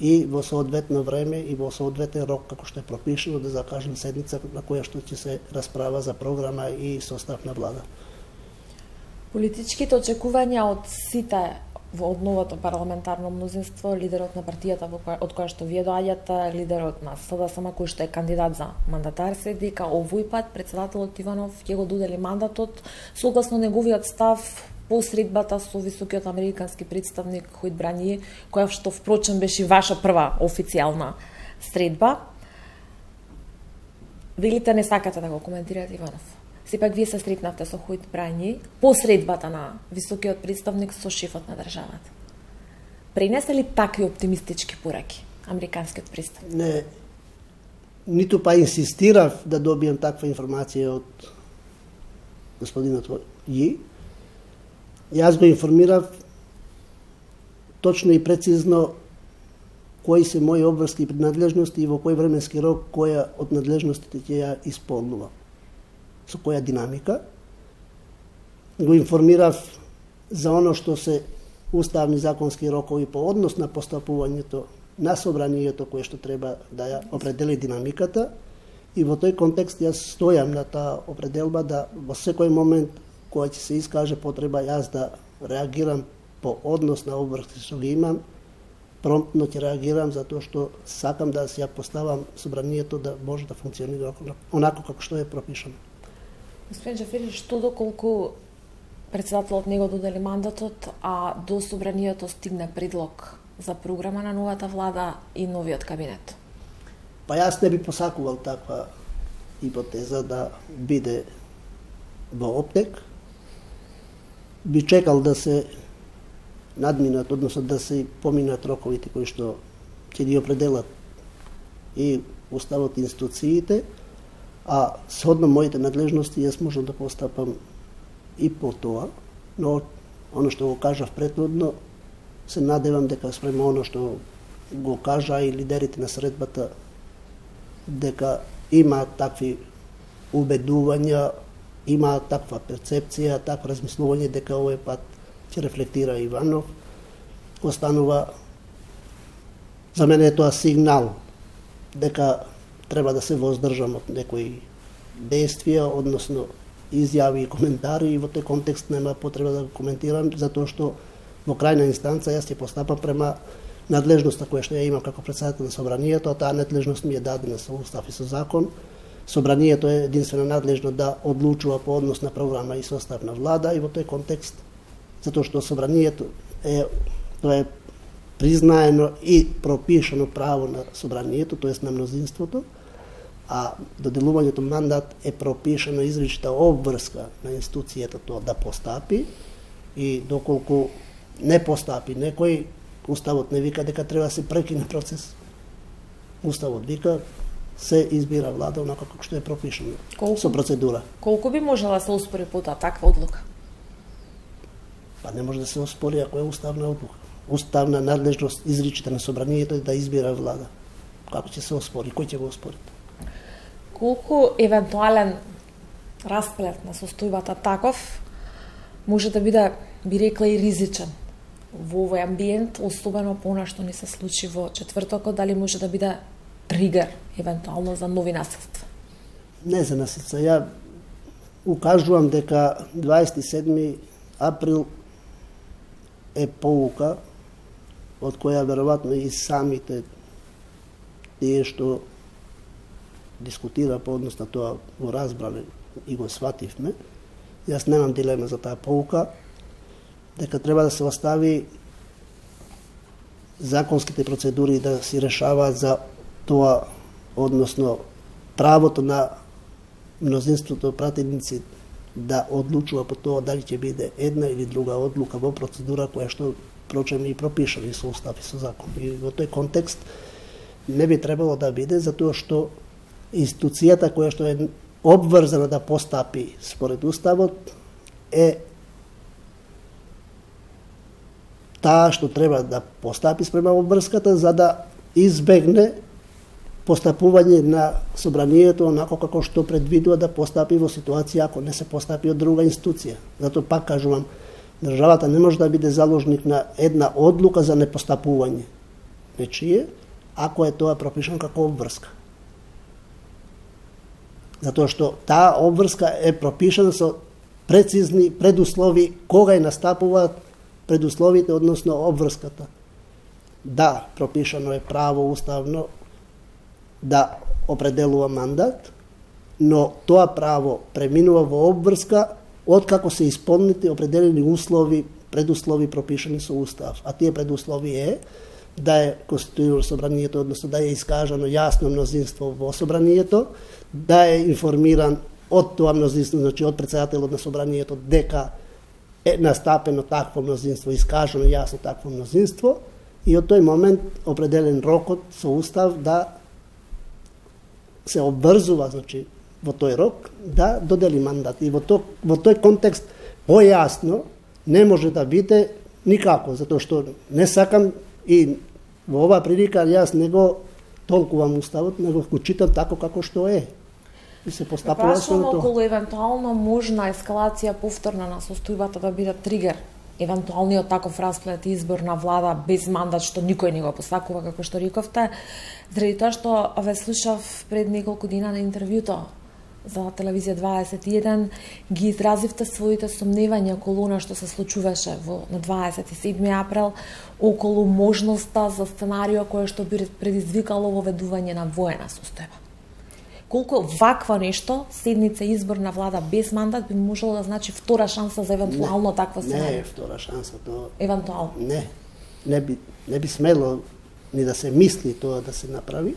и во соодветно време и во соодветен рок како што е пропишано, да закажем седница на која што ќе се расправа за програма и состав на влада. Политичките очекувања од сите од новото парламентарно мнозинство, лидерот на партијата од која што вие доаѓате, лидерот на СДСМ кој што е кандидат за мандатар, се дека овој пат председателот Иванов ќе го додели мандатот согласно неговиот став по средбата со високиот американски представник Хојт Брање, која што впрочем беше ваша прва официјална средба. Велите не сакате да го коментирате Иванов. Сепак вие се сретнавте со Хојт Брање по средбата на високиот представник со шефот на државата. Пренесе ли такви оптимистички пораки американскиот представник? Не. ниту па инсистирав да добијам таква информација од господинот Ји. Јас го информирав точно и прецизно кои се мои обврски и принадлежности и во кој временски рок која од надлежностите ќе ја исполнува. Со која динамика. Го информирав за оно што се уставни законски рокови по однос на постапувањето на собранието кое што треба да ја определи динамиката, и во тој контекст јас стојам на таа определба да во секој момент која ќе се искаже потреба јас да реагирам по однос на обврски што ги имам, промптно ќе реагирам затоа што сакам да се ја поставам собранието да може да функционира онако како што е пропишано. Господин Џафери, што доколку председателот не го додели мандатот, а до собранието стигне предлог за програма на новата влада и новиот кабинет? Па јас не би посакувал таква хипотеза да биде во оптек. Би чекал да се надминат, односно да се поминат роковите кои што ќе ги определат и уставот и институциите, а сhodно моите надлежности јас можам да постапам и по тоа, но оно што го кажав претходно, се надевам дека спрема оно што го кажа и лидерите на средбата, дека има такви убедувања, има таква перцепција, такво размислување дека овој пат ќе рефлектира Иванов, останува, за мене е тоа сигнал дека треба да се воздржам од некои действија, односно изјави и коментари, и во тој контекст нема потреба да го коментирам, затоа што во крајна инстанца јас ќе постапам према надлежноста која што ја имам како председател на собранието, а таа надлежност ми е дадена со устав и со закон. Собранието е единствено надлежно да одлучува по однос на програма и состав на влада, и во тој контекст, затоа што собранието е, тоа е признаено и пропишано право на собранието, тоест на мнозинството, а доделувањето мандат е пропишано изричита обврска на институцијата тоа да постапи, и доколку не постапи некој, Уставот не вика дека треба да се прекине процес. Уставот вика се избира влада онака како што е пропишано колку, со процедура. Колку би можела да се оспори потоа таква одлука? Па не може да се оспори ако е уставна одлука. Уставна надлежност изричита на собранието е да избира влада. Како ќе се оспори? Кој ќе го оспори? Колку евентуален расплет на состојбата таков може да биде, би рекла, и ризичен во овој амбиент, особено по она што ни се случи во четвртокот, дали може да биде тригер евентуално за нови наследства? Не за наследства. Ја укажувам дека дваесет и седми април е поука од која веројатно и самите тие што дискутира по однос на тоа го разбрале и го свативме. Јас немам дилема за таа поука, дека треба да се остави законските процедури да се решаваат за тоа, односно правото на мнозинството пратеници да одлучува по тоа дали ќе биде една или друга одлука во процедура која што прочем и пропишани со устав и со закон. И во тој контекст не би требало да биде, затоа што институцијата која што е обврзана да постапи според уставот е таа што треба да постапи спрема обврската за да избегне постапување на собранието онако како што предвидува да постапи во ситуација ако не се постапи од друга институција. Затоа пак кажувам, државата не може да биде заложник на една одлука за непостапување нечие, ако е тоа пропишано како обврска. Затоа што таа обврска е пропишана со прецизни предуслови кога е настапуваат предусловите, односно обврската. Да, пропишано е право уставно да определува мандат, но тоа право преминува во обврска откако се исполнети определени услови, предуслови пропишани со устав. А тие предуслови е да е конституирано собранието, односно да е искажано јасно мнозинство во собранието, да е информиран од тоа мнозинство, значи од председателот на собранието, дека е настапено такво мнозинство, искажано јасно такво мнозинство, и од тој момент определен рокот со устав да се обврзува, значи, во тој рок, да додели мандат. И во, то, во тој контекст, појасно, не може да биде никако, затоа што не сакам и во оваа прилика јас не го толкувам уставот, него го читам тако како што е. И се постапува со тоа. Околу евентуално можна ескалација повторна на состојбата да биде тригер, евентуалниот таков расплет избор на влада без мандат што никој не го посакува, како што рековте, заради тоа што ве слушав пред неколку дена на интервјуто за телевизија дваесет и еден, ги изразивте своите сомневања околу она што се случуваше во на дваесет и седми април, околу можноста за сценарио кое што би предизвикало воведување на воена состојба. Колку ваква нешто, седница избор на влада без мандат би можело да значи втора шанса за евентуално не, таква сценарио? Не е втора шанса, тоа... Евентуално? Не, не би, не би смело ни да се мисли тоа да се направи.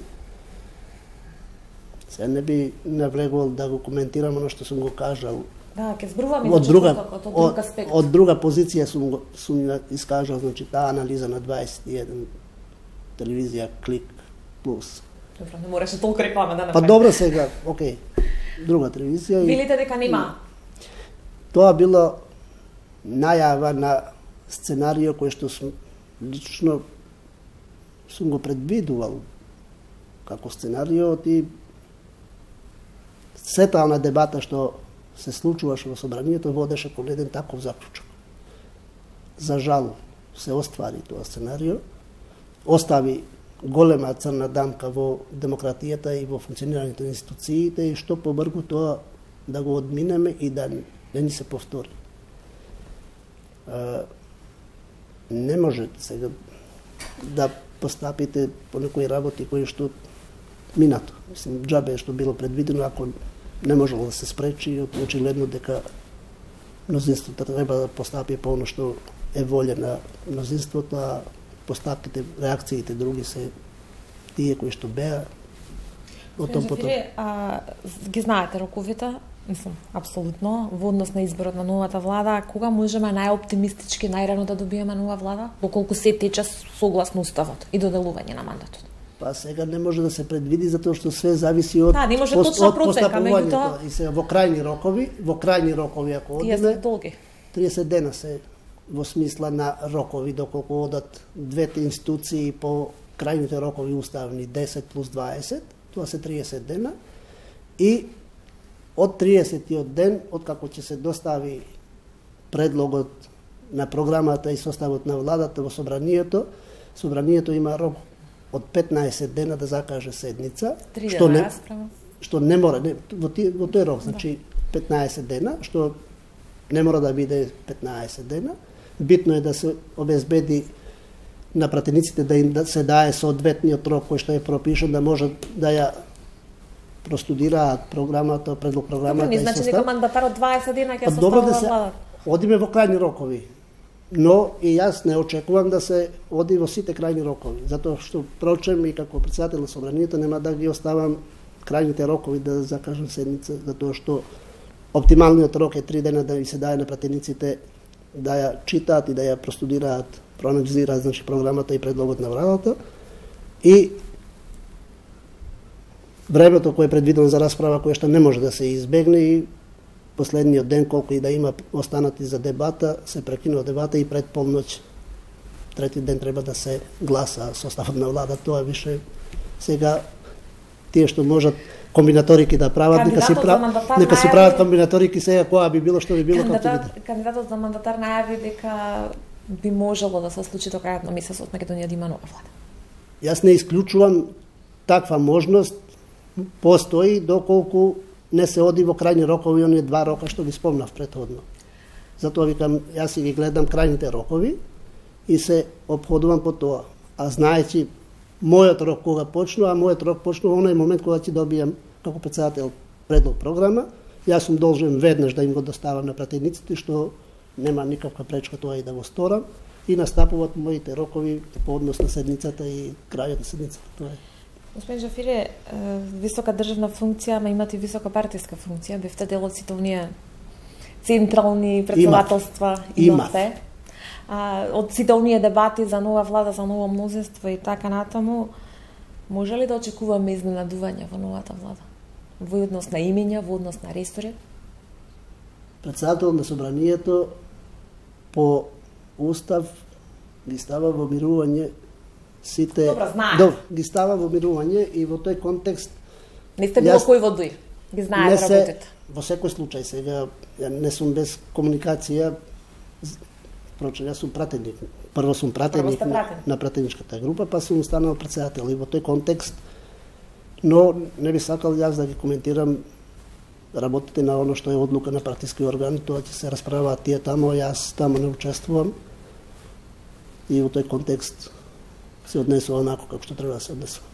Се не би навлегувал да го коментирам оно што сум го кажал. Да, ќе зборуваме од друга, од друг аспект. Од, од друга позиција сум го сум искажал, значи таа анализа на дваесет и еден телевизија Клик Плюс. Добро, не мораше толку реклама да направи. Па добро сега, окей. Друга телевизија. Билите дека нема? Тоа било најава на сценарио кој што сум лично сум го предвидувал како сценарио и сета на дебата што се случуваше во собранието водеше кон еден таков заклучок. За жал се оствари тоа сценарио, остави голема црна дамка во демократијата и во функционирањето на институциите и што побргу тоа да го одминеме и да не ни се повтори. А, не може сега да постапите по некои работи кои што минато. Мислим, џабе што било предвидено, ако не можело да се спречи, очигледно дека мнозинството треба да постапи по оно што е волја на мнозинството, а постапките, реакциите други се тие кои што беа. Отом потом. А, ги знаете роковите, мислам, апсолутно, во однос на изборот на новата влада, кога можеме најоптимистички најрано да добиеме нова влада? Доколку се тече согласно уставот и доделување на мандатот? Па сега не може да се предвиди затоа што све зависи од да, не може точна процека, меѓутоа и се во крајни рокови, во крајни рокови ако одиме, триесет дена се во смисла на рокови, доколку одат двете институции по крајните рокови уставни десет плюс дваесет, тоа се триесет дена, и од триесетиот ден, од како ќе се достави предлогот на програмата и составот на владата во собранието, собранието има рок од петнаесет дена да закаже седница, што не, што не мора, не, во, ти, во тој рок, значи петнаесет дена, што не мора да биде петнаесет дена. Битно е да се обезбеди на пратениците да им да се дае соодветниот рок кој што е пропишан, да можат да ја простудираат програмата, предлог програмата и состав. Значи дека мандатарот дваесет дена ќе составува да владата. Одиме во крајни рокови. Но и јас не очекувам да се оди во сите крајни рокови, затоа што прочем и како председател на собранието нема да ги оставам крајните рокови да закажам седница, затоа што оптималниот рок е три дена да ви се дае на пратениците да ја читаат и да ја простудираат, проанализираат значи програмата и предлогот на владата и времето кое е предвидено за расправа кое што не може да се избегне и последниот ден колку и да има останати за дебата, се прекинува дебата и пред полноќ трети ден треба да се гласа составот на влада. Тоа више сега тие што можат комбинаторики да прават, нека си прават, нека си прават комбинаторики сега која би било што би било како биде. Кандидатот за мандатар најави дека би можело да се случи до крајот на месецот Македонија да има нова влада. Јас не исклучувам таква можност, постои доколку не се оди во крајни рокови, оние два рока што ги спомнав претходно. Затоа викам, јас си ги гледам крајните рокови и се опходувам по тоа. А знаејќи мојот рок кога почнува, а мојот рок почнува во оној момент кога ќе добијам како председател предлог програма, јас сум должен веднаш да им го доставам на пратениците, што нема никаква пречка тоа и да го сторам, и настапуваат моите рокови по однос на седницата и крајот на седницата. Тоа е. Господин Джафире, висока државна функција, ма имате висока партиска функција, бевте дел од сите оние централни председателства имате. А, од сите оние дебати за нова влада, за ново мнозинство и така натаму, Може ли да очекуваме изненадување во новата влада? Во однос на имења, во однос на ресори? Председател на собранието по устав ги става во мирување сите... Добро, знаеш. Добро, ги става во мирување и во тој контекст... Не сте било кој во дуј? Ги знаете работите? Во секој случај сега, ја не сум без комуникација, впрочем, јас сум пратеник. Прво сум пратеник Прво на, на пратеничката група, па сум станал председател и во тој контекст, но не би сакал јас да ги коментирам работите на оно што е одлука на партиски органи, тоа ќе се расправаат тие тамо, јас тамо не учествувам и во тој контекст се однесува онако како што треба да се однесува.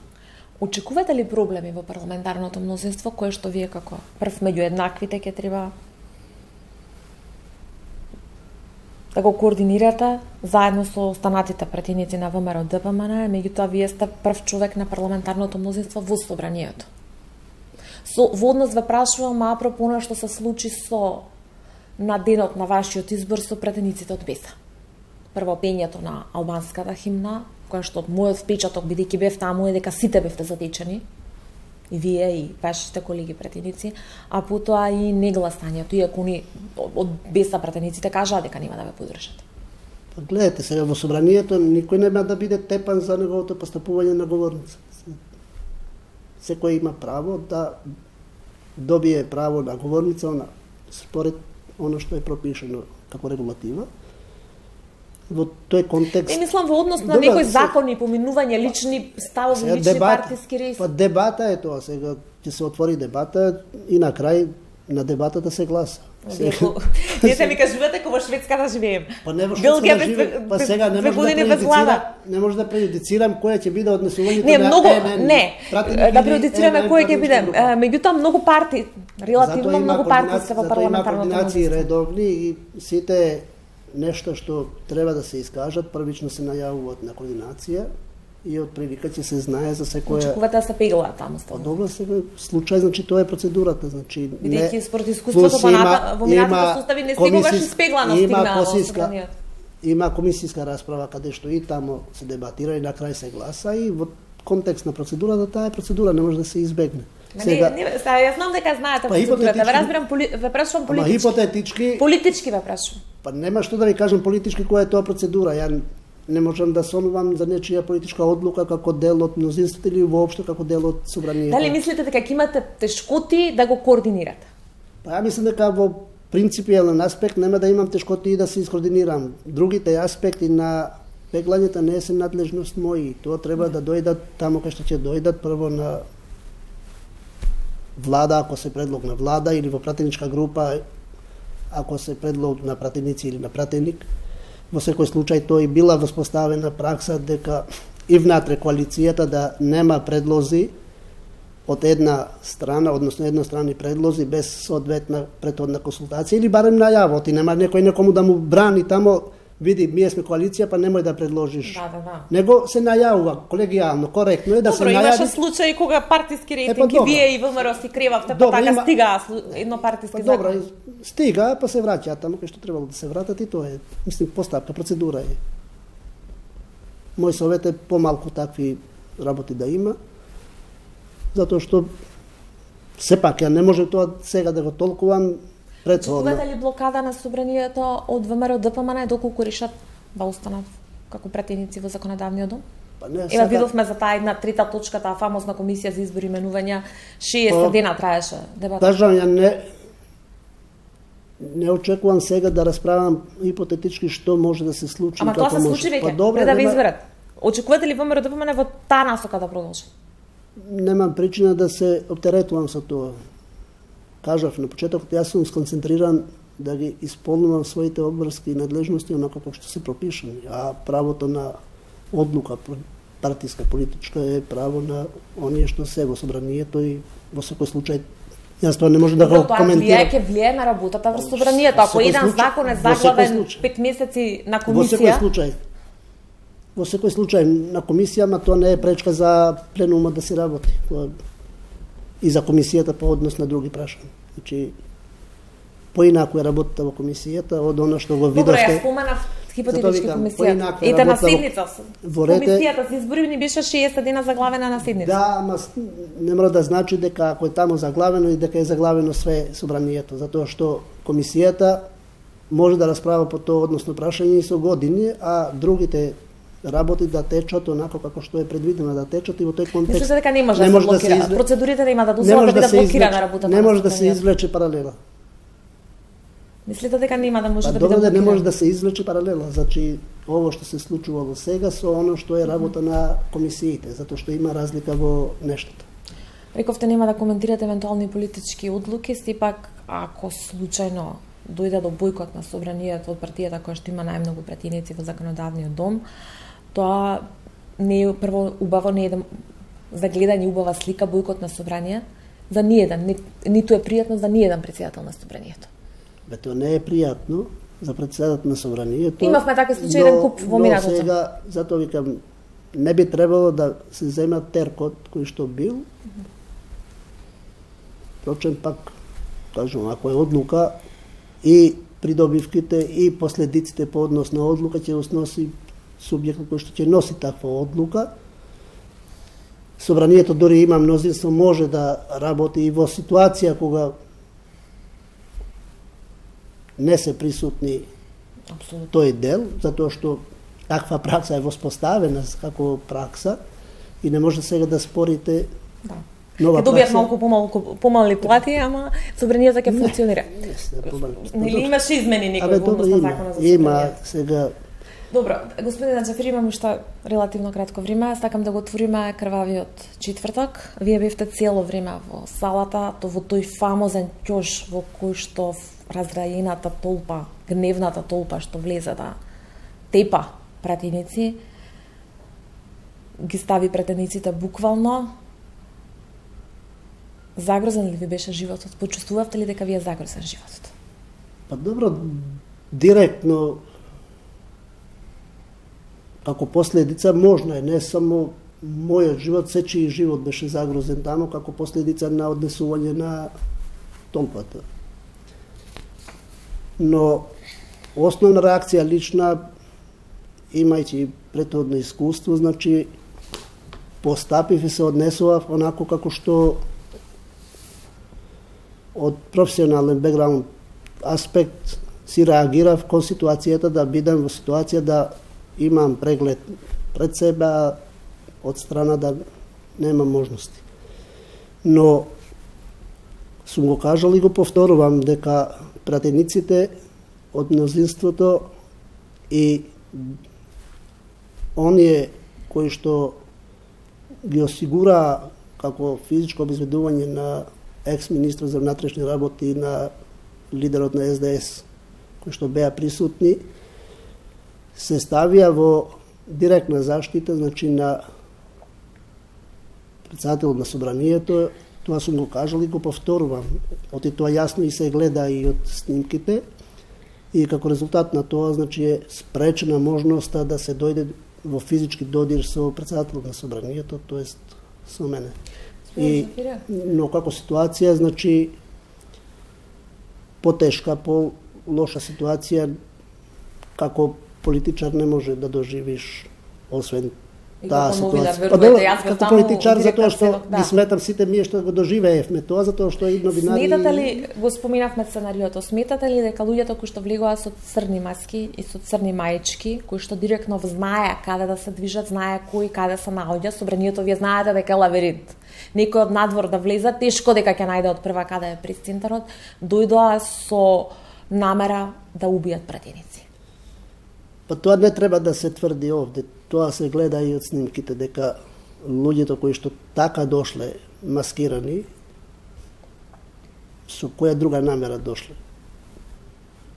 Очекувате ли проблеми во парламентарното мнозинство, кое што вие како прв меѓу еднаквите ќе треба да го координирате заедно со останатите пратеници на ВМРО Д П М Н, меѓутоа вие сте прв човек на парламентарното мнозинство во собранието. Со во однос ве прашувам апропо она што се случи со на денот на вашиот избор со пратениците од Беса. Прво пењето на албанската химна, која што мојот впечаток, бидејќи бев таму, е дека сите бевте затечени, и вие, и вашите колеги пратеници, а потоа и негласањето, иако ни од Беса пратениците кажаа дека нема да ве подржат. Па гледате, сега во собранието никој нема да биде тепан за неговото постапување на говорница. Секој има право да добие право на говорница на според оно што е пропишено како регулатива. Во тој контекст... Не мислам во однос на некој закони, поминување, лични ставови, лични дебат, партиски реси. Па дебата е тоа, сега ќе се отвори дебата и на крај на дебатата се гласа. Вие се ми кажувате како во Шведска да живеем. Па не во Шведска да живеем, па сега не може да преюдицирам, не може да преюдицирам која ќе биде однесувањето не, на многу, Е Н Н. Не, да преюдицираме која ќе биде. Меѓутоа многу парти, релативно многу парти се во парламентарното мнозинство. Затоа има координации редовни и сите нешто што треба да се искажат, првично се најавуваат на координација и од прилика ќе се знае за секоја... Очекувате да се пеглаат таму ставно? Па добро, сега случај, значи тоа е процедурата, значи... Бидејќи според искуството во минатите состави не секогаш испеглано стигнаа во собранието. Има комисиска расправа каде што и тамо се дебатира и на крај се гласа и во контекст на процедурата, таа е процедура, не може да се избегне. Сега, не, не, јас знам дека знаете па, процедурата, ве разбирам, поли, ве прашувам политички. Ама хипотетички... Политички ве прашувам. Па нема што да ви кажам политички која е тоа процедура. Ја не можам да сонувам за нечија политичка одлука како дел од мнозинството или воопшто како дел од собранието. Дали мислите дека ќе имате тешкоти да го координирате? Па ја мислам дека во принципијален аспект нема да имам тешкоти и да се искоординирам. Другите аспекти на пеглањето не се надлежност мои. Тоа треба да дојдат таму кај што ќе дојдат прво на влада, ако се предлог на влада, или во пратеничка група, ако се предлог на пратеници или на пратеник. Во секој случај тој била воспоставена пракса дека и внатре коалицијата да нема предлози од една страна, односно едностранни предлози без соодветна претhodна консултација или барем најава, ти нема некој некому да му брани тамо, види, ние сме коалиција, па немој да предложиш. Да, да, да. Него се најавува колегијално, коректно е да добро, се најави. Добро, имаше случаи кога партиски рейтинг и вие и ВМРО си кревавте, па така има... стига едно партиски па, добро, закон. Стига, па се враќаат таму кај што требало да се вратат и тоа е, мислим, постапка, процедура е. Мој совет е помалку такви работи да има, затоа што сепак ја не може тоа сега да го толкувам. Очекувате ли блокада на собранието од ВМРО Д П М Н доколку решат да останат како пратеници во законодавниот дом? Па не, Ева видовме за таа една трета точка, таа фамозна комисија за избори и именувања, шеесет дена траеше дебата. Кажам, ја не не очекувам сега да расправам хипотетички што може да се случи. Ама тоа се случи веќе, па, пред да ве изберат. Очекувате ли ВМРО Д П М Н во таа насока да продолжи? Немам причина да се оптеретувам со тоа. Кажав на почетокот, јас сум сконцентриран да ги исполнувам своите обврски и надлежности онако како што се пропишани, а правото на одлука партиска политичка е право на оние што се во собранието и во секој случај јас тоа не можам да го коментирам. Тоа ќе влие на работата во собранието. Ако еден закон е заглавен пет месеци на комисија, во секој случај во секој случај на комисија, ма тоа не е пречка за пленумот да се работи. И за комисијата по однос на други прашања. Значи, поинаку е работата во комисијата од она што го видовте. Добро, ја споменав Хипотетички комисија. Ете на седница. Комисијата се избори ни беше шеесет дена заглавена на седница. Да, ама не мора да значи дека ако е таму заглавено и дека е заглавено све собранието, затоа што комисијата може да расправа по тоа односно прашање и со години, а другите работи да течат онако како што е предвидено да течат и во тој контекст. Мислите дека не може да се блокира, да се процедурите да има да дозволат да биде блокирана работата. Не може да се извлече паралела. Мислите дека нема да може па, да биде блокирана? Не може да се извлече паралела, значи ово што се случувало сега со оно што е работа mm -hmm. на комисиите, затоа што има разлика во нештата. Рековте нема да коментирате евентуални политички одлуки, сепак ако случајно дојде до бојкот на собранието од партијата која што има најмногу пратеници во законодавниот дом, тоа не е прво убаво, не е да за гледање убава слика бојкот на собрание за ниеден, ни, ниту е пријатно за ниеден председател на собранието. Бе, тоа не е пријатно за председател на собранието. Имавме такви случаи еден куп во минатото. Но сега, затоа викам, не би требало да се зема теркот кој што бил. Впрочем, пак, кажам, ако е одлука, и придобивките и последиците по однос на одлука ќе сноси субјектот кој што ќе носи таква одлука. Собранието дори има мнозинство, може да работи и во ситуација кога не се присутни Абсолютно. Тој дел, затоа што таква пракса е воспоставена како пракса и не може сега да спорите да. Нова пракса. Добијат малку помалку помали плати, ама собранието ќе функционира. Не, не, не имаше измени никој во однос на законот за собранието? Има сега. Добро, господине Џафери, имаме уште релативно кратко време. Сакам да го отвориме крвавиот четврток. Вие бевте цело време во салата, то во тој фамозен ќош во кој што разрајената толпа, гневната толпа што влезе да тепа пратеници, ги стави пратениците буквално. Загрозен ли ви беше животот? Почувствувавте ли дека ви е загрозен животот? Па добро, директно како последица можно е, не само мојот живот, сечи живот беше загрозен таму како последица на однесување на толпата. Но основна реакција лична, имајќи претходно искуство, значи постапив и се однесував онако како што од професионален бекграунд аспект си реагирав кон ситуацијата, да бидам во ситуација да имам преглед пред себе, од страна да нема можности. Но сум го кажал и го повторувам дека пратениците од мнозинството и оние кои што ги осигура како физичко обезбедување на екс-министр за внатрешни работи и на лидерот на Ес Де Ес, кои што беа присутни, се ставија во директна заштита, значи на председателот на собранието. Тоа сум го кажал и го повторувам. Оти тоа јасно и се гледа и од снимките. И како резултат на тоа, значи, е спречена можноста да се дојде во физички додир со председателот на собранието, тоест со мене. И, но како ситуација, значи, потешка, по-лоша ситуација, како политичар не може да доживиш, освен таа ситуација. Па добро, како политичар, затоа што да. Ги сметам сите ние што го доживеевме тоа, затоа што и новинари... Сметате ли, го споминавме сценариото, сметате ли дека луѓето кои што влегуваат со црни маски и со црни маечки, кои што директно знае каде да се движат, знае кој каде се наоѓа, собранието вие знаете дека е лабиринт. Некој од надвор да влезе, тешко дека ќе најде од прва каде е пресцентарот, дојдоа со намера да убијат пратеници. Па тоа не треба да се тврди овде. Тоа се гледа и од снимките, дека луѓето кои што така дошле маскирани, со која друга намера дошле?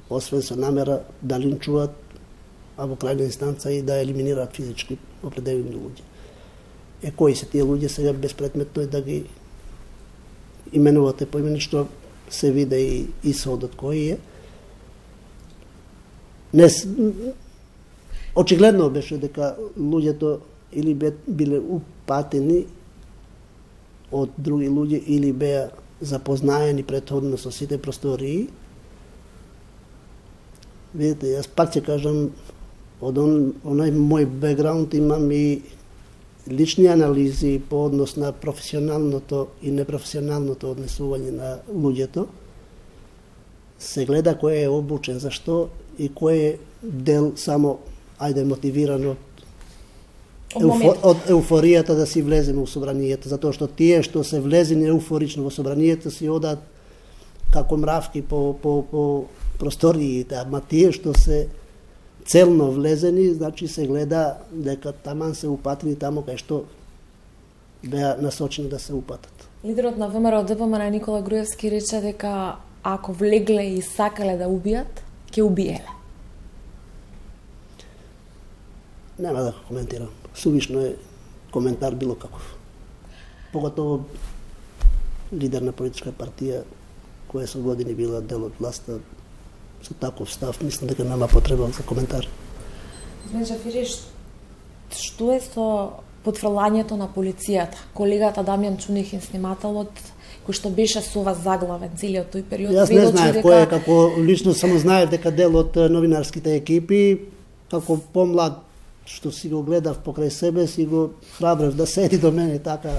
Освен со намера да линчуваат, а во крајна инстанца и да елиминираат физички определени луѓе. Е, кои се тие луѓе, сега безпредметно е да ги именувате поимени, што се виде и исходот кој е. Не, очигледно беше дека луѓето или биле упатени од други луѓе или беа запознаени претходно со сите простории. Видите, јас пак ќе кажам, од он, онај мој бекграунд имам и лични анализи по однос на професионалното и непрофесионалното однесување на луѓето. Се гледа кој е обучен за што и кој е дел само, ајде, мотивиран од Еуфо, од еуфоријата да си влеземе во собранието, затоа што тие што се влезени еуфорично во собранието си одат како мравки по, по, по просториите, ама тие што се целно влезени, значи се гледа дека таман се упатени тамо кај што беа насочени да се упатат. Лидерот на ВМРО Д П М Н Никола Груевски рече дека ако влегле и сакале да убијат, ќе убиеле. Нема да коментирам. Сувишно е коментар било каков. Поготово лидер на политичка партија која со години била дел од власта со таков став, мислам дека нема потреба за коментар. Господин Джафери, што е со потфрлањето на полицијата? Колегата Дамјан Чунихин, снимателот, кој што беше со вас заглавен целиот тој период. Јас не знаев дека... кој е, како лично само знаев дека дел од новинарските екипи, како помлад што си го гледав покрај себе, си го храбрев да седи до мене така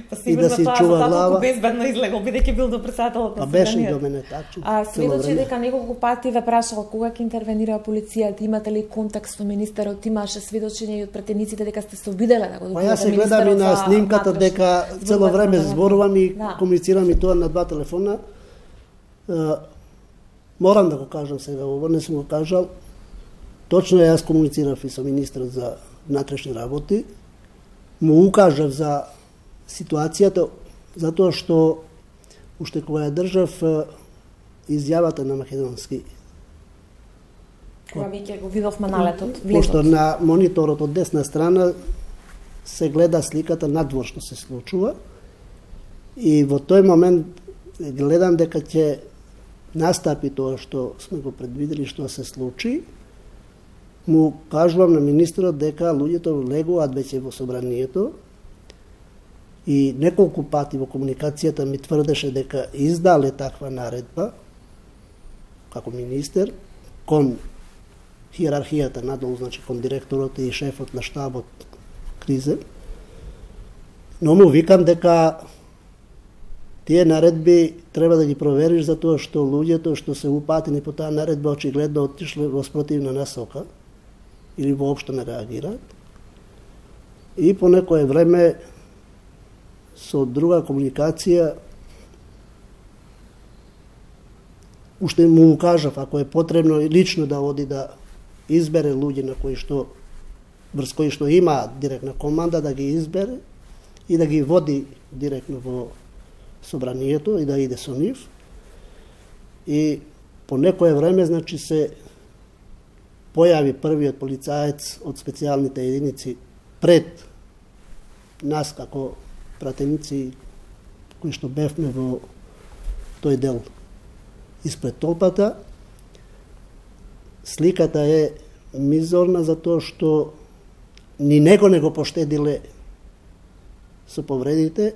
па, и да си чува глава. Па безбедно излегол, бидејќи бил до председателот на собранието. А беше и до мене така. А сведочи дека неколку пати ве прашал кога ќе интервенира полицијата, имате ли контакт со министерот, имаше сведочење и од претениците дека сте се обиделе да го допитате. Па јас се гледам и на снимката дека цело време зборувам и да. комуницирам и тоа на два телефона. Uh, морам да го кажам сега, ово не сум го кажал. Точно јас комуницирав и со министерот за внатрешни работи, му укажав за ситуацијата, затоа што уште кога ја држав изјавата на македонски. Кога веќе го видовме налетот, влезот. Пошто на мониторот од десна страна се гледа сликата надвор што се случува и во тој момент гледам дека ќе настапи тоа што сме го предвидели што се случи. Му кажувам на министерот дека луѓето легуваат веќе во собранието и неколку пати во комуникацијата ми тврдеше дека издале таква наредба како министер кон хиерархијата надолу, значи кон директорот и шефот на штабот Кризе. Но му викам дека тие наредби треба да ги провериш затоа што луѓето што се упатени по таа наредба очигледно отишле во спротивна насока или воопшто не реагираат. И по некое време со друга комуникација уште му укажав ако е потребно лично да оди да избере луѓе на кои што врз кои што има директна команда да ги избере и да ги води директно во собранието и да иде со нив. И по некое време значи се појави првиот полицаец од специјалните единици пред нас како пратеници кои што бевме во тој дел испред толпата. Сликата е мизорна затоа што ни него не го поштедиле со повредите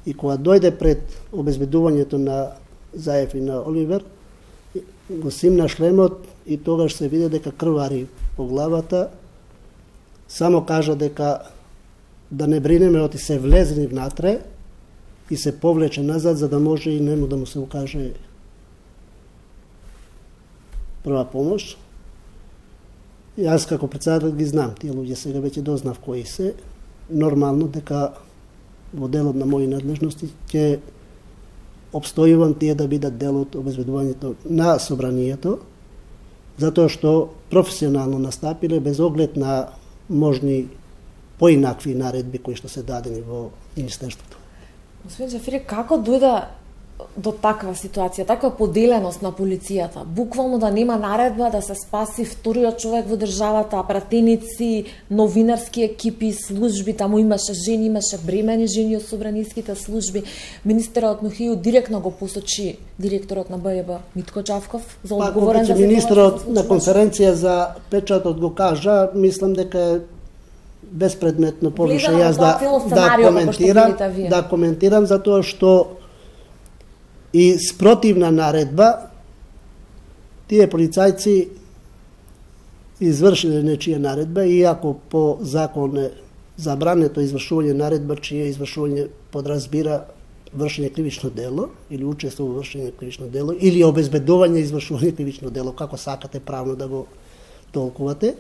и кога дојде пред обезбедувањето на Заев и на Оливер, го симна шлемот и тогаш се види дека крвари по главата. Само кажа дека да не бринеме, оти се влезени внатре и се повлече назад за да може и нему да му се укаже прва помош. Јас како председател ги знам, тие луѓе сега веќе дознав кои се. Нормално дека во делот на мои надлежности ќе обстојувам тие да бидат дел од обезбедувањето на собранието, затоа што професионално настапиле без оглед на можни поинакви наредби кои што се дадени во Министерството. Господин Джафери, како дојде до таква ситуација, таква поделеност на полицијата? Буквално да нема наредба да се спаси вториот човек во државата, пратеници, новинарски екипи, служби, таму имаше жени, имаше бремени жени од собраниските служби. Министерот Нухију директно го посочи директорот на Б Ј Б Митко Чавков за одговорен за министерот на конференција за печатот го кажа, мислам дека е безпредметно повише јас да да коментирам, да коментирам затоа што и спротивна наредба тие полицајци извршиле нечија наредба, иако по закон е забрането извршување наредба, чие извршување подразбира вршење кривично дело или учество во вршење кривично дело или обезбедување извршување кривично дело, како сакате правно да го толкувате.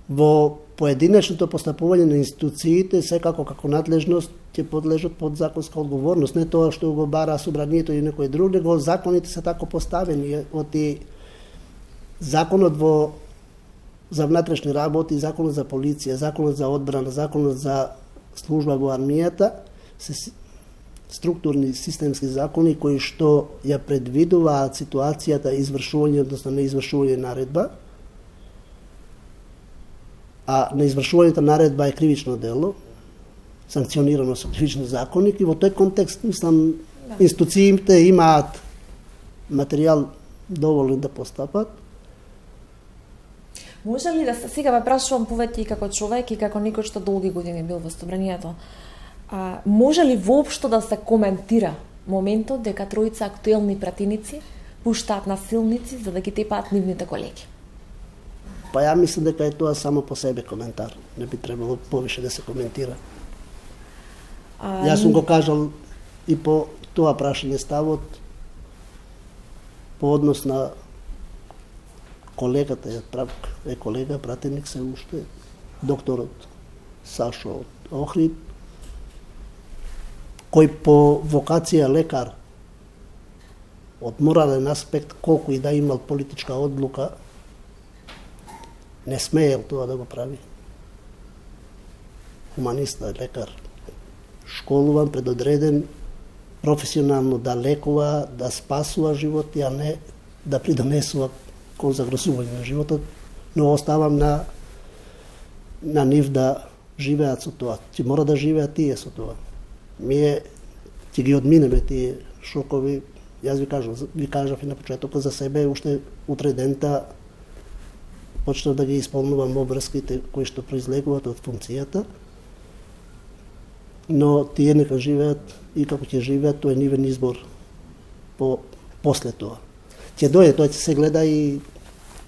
Во поединечното постапување на институциите секако како надлежност ќе подлежат под законска одговорност, не тоа што го бара собранието или некој друг, него законите се тако поставени. Оти законот во за внатрешни работи, законот за полиција, законот за одбрана, законот за служба во армијата се структурни системски закони кои што ја предвидуваат ситуацијата извршување, односно неизвршување наредба, а неизвршувањето наредба е кривично дело, санкционирано со кривични законник, и во тој контекст, мислам, институциите имаат материјал доволен да постапат. Може ли да се сега ве прашувам повеќе и како човек и како некој што долги години бил во собранието, а, може ли воопшто да се коментира моментот дека тројца актуелни пратеници пуштаат насилници за да ги тепаат нивните колеги? Па ја мислам дека е тоа само по себе коментар. Не би требало повише да се коментира. А... Јас сум го кажал и по тоа прашање ставот по однос на колегата, е колега, пратеник се уште, докторот Сашо од Охрид, кој по вокација лекар од морален аспект, колку и да имал политичка одлука, не смеел тоа да го прави. Хуманиста, лекар, школуван, предодреден, професионално да лекува, да спасува животи, а не да придонесува кон загрозување на животот, но оставам на на нив да живеат со тоа. Ќе мора да живеат тие со тоа. Ние ќе ги одминеме тие шокови. Јас ви кажав, ви кажав и на почетокот за себе, уште утре дента почнав да ги исполнувам обврските кои што произлегуваат од функцијата, но тие нека живеат и како ќе живеат, тоа е нивен избор по после тоа. Ќе дојде, тоа ќе се гледа и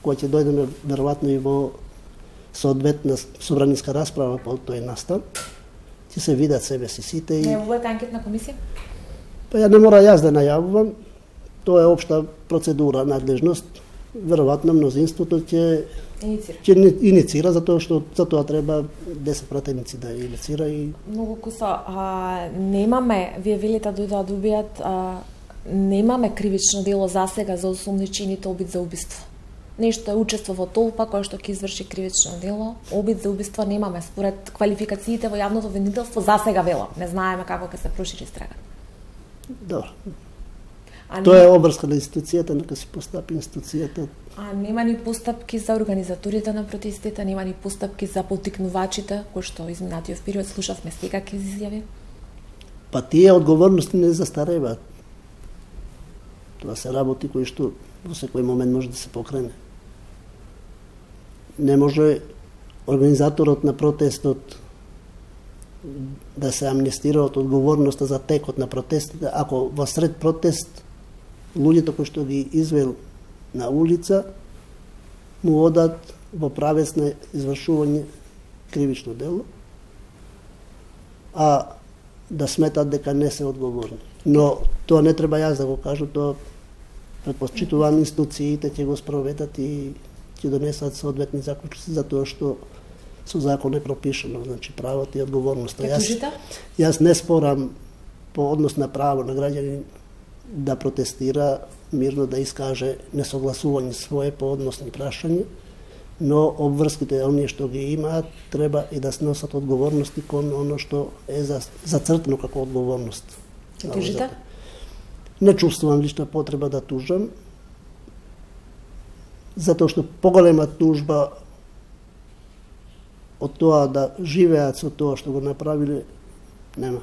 кога ќе дојдеме веројатно и во соодветна собраниска расправа по тој настан, ќе се видат себе си сите и... Најавувате анкетна комисија? Па ја не мора јас да најавувам, тоа е општа процедура, надлежност. Веројатно мнозинството ќе ќе иницира, затоа што за тоа треба десет пратеници да иницира и... Многу кусо, а, немаме, вие велите дојде да добијат, а, немаме кривично дело за сега за осумничените обид за убиство. Нешто е учество во толпа која што ќе изврши кривично дело, обид за убиство немаме според квалификациите во јавното обвинителство за сега вело. Не знаеме како ќе се прошири истрага. Добро. А тоа е обврска на институцијата, нека се постапи институцијата. А нема ни постапки за организаторите на протестите, нема ни постапки за поттикнувачите, кои што изминатиот период слушавме секакви изјави? Па тие одговорности не застареваат. Тоа се работи кои што во секој момент може да се покрене. Не може организаторот на протестот да се амнестира од одговорноста за текот на протестите, ако во сред протест луѓето кои што ги извел на улица му одат во правец на извршување кривично дело, а да сметат дека не се одговорни. Но тоа не треба јас да го кажам, тоа предпочитувам институциите ќе го спроведат и ќе донесат соодветни заклучоци, затоа што со закон е пропишано, значи правото и одговорноста. Јас, јас не спорам по однос на право на граѓанин да протестира, мирно да искаже несогласување свое по односни прашања, но обврските оние што ги имаат треба и да сносат одговорности кон оно што е зацртано како одговорност. Ќе тужите? Не чувствувам лична потреба да тужам, затоа што поголема тужба од тоа да живеат со тоа што го направиле, нема.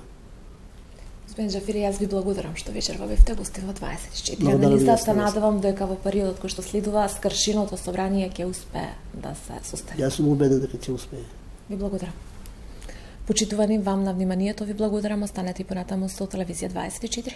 Господин Џафери, јас ви благодарам што вечерва бевте гости во дваесет и четири. Анализа се надевам дека во периодот кој што следува скршеното собрание ќе успее да се состави. Јас сум убеден дека ќе успее. Ви благодарам. Почитувани вам на вниманието, ви благодарам, останете и понатаму со телевизија дваесет и четири.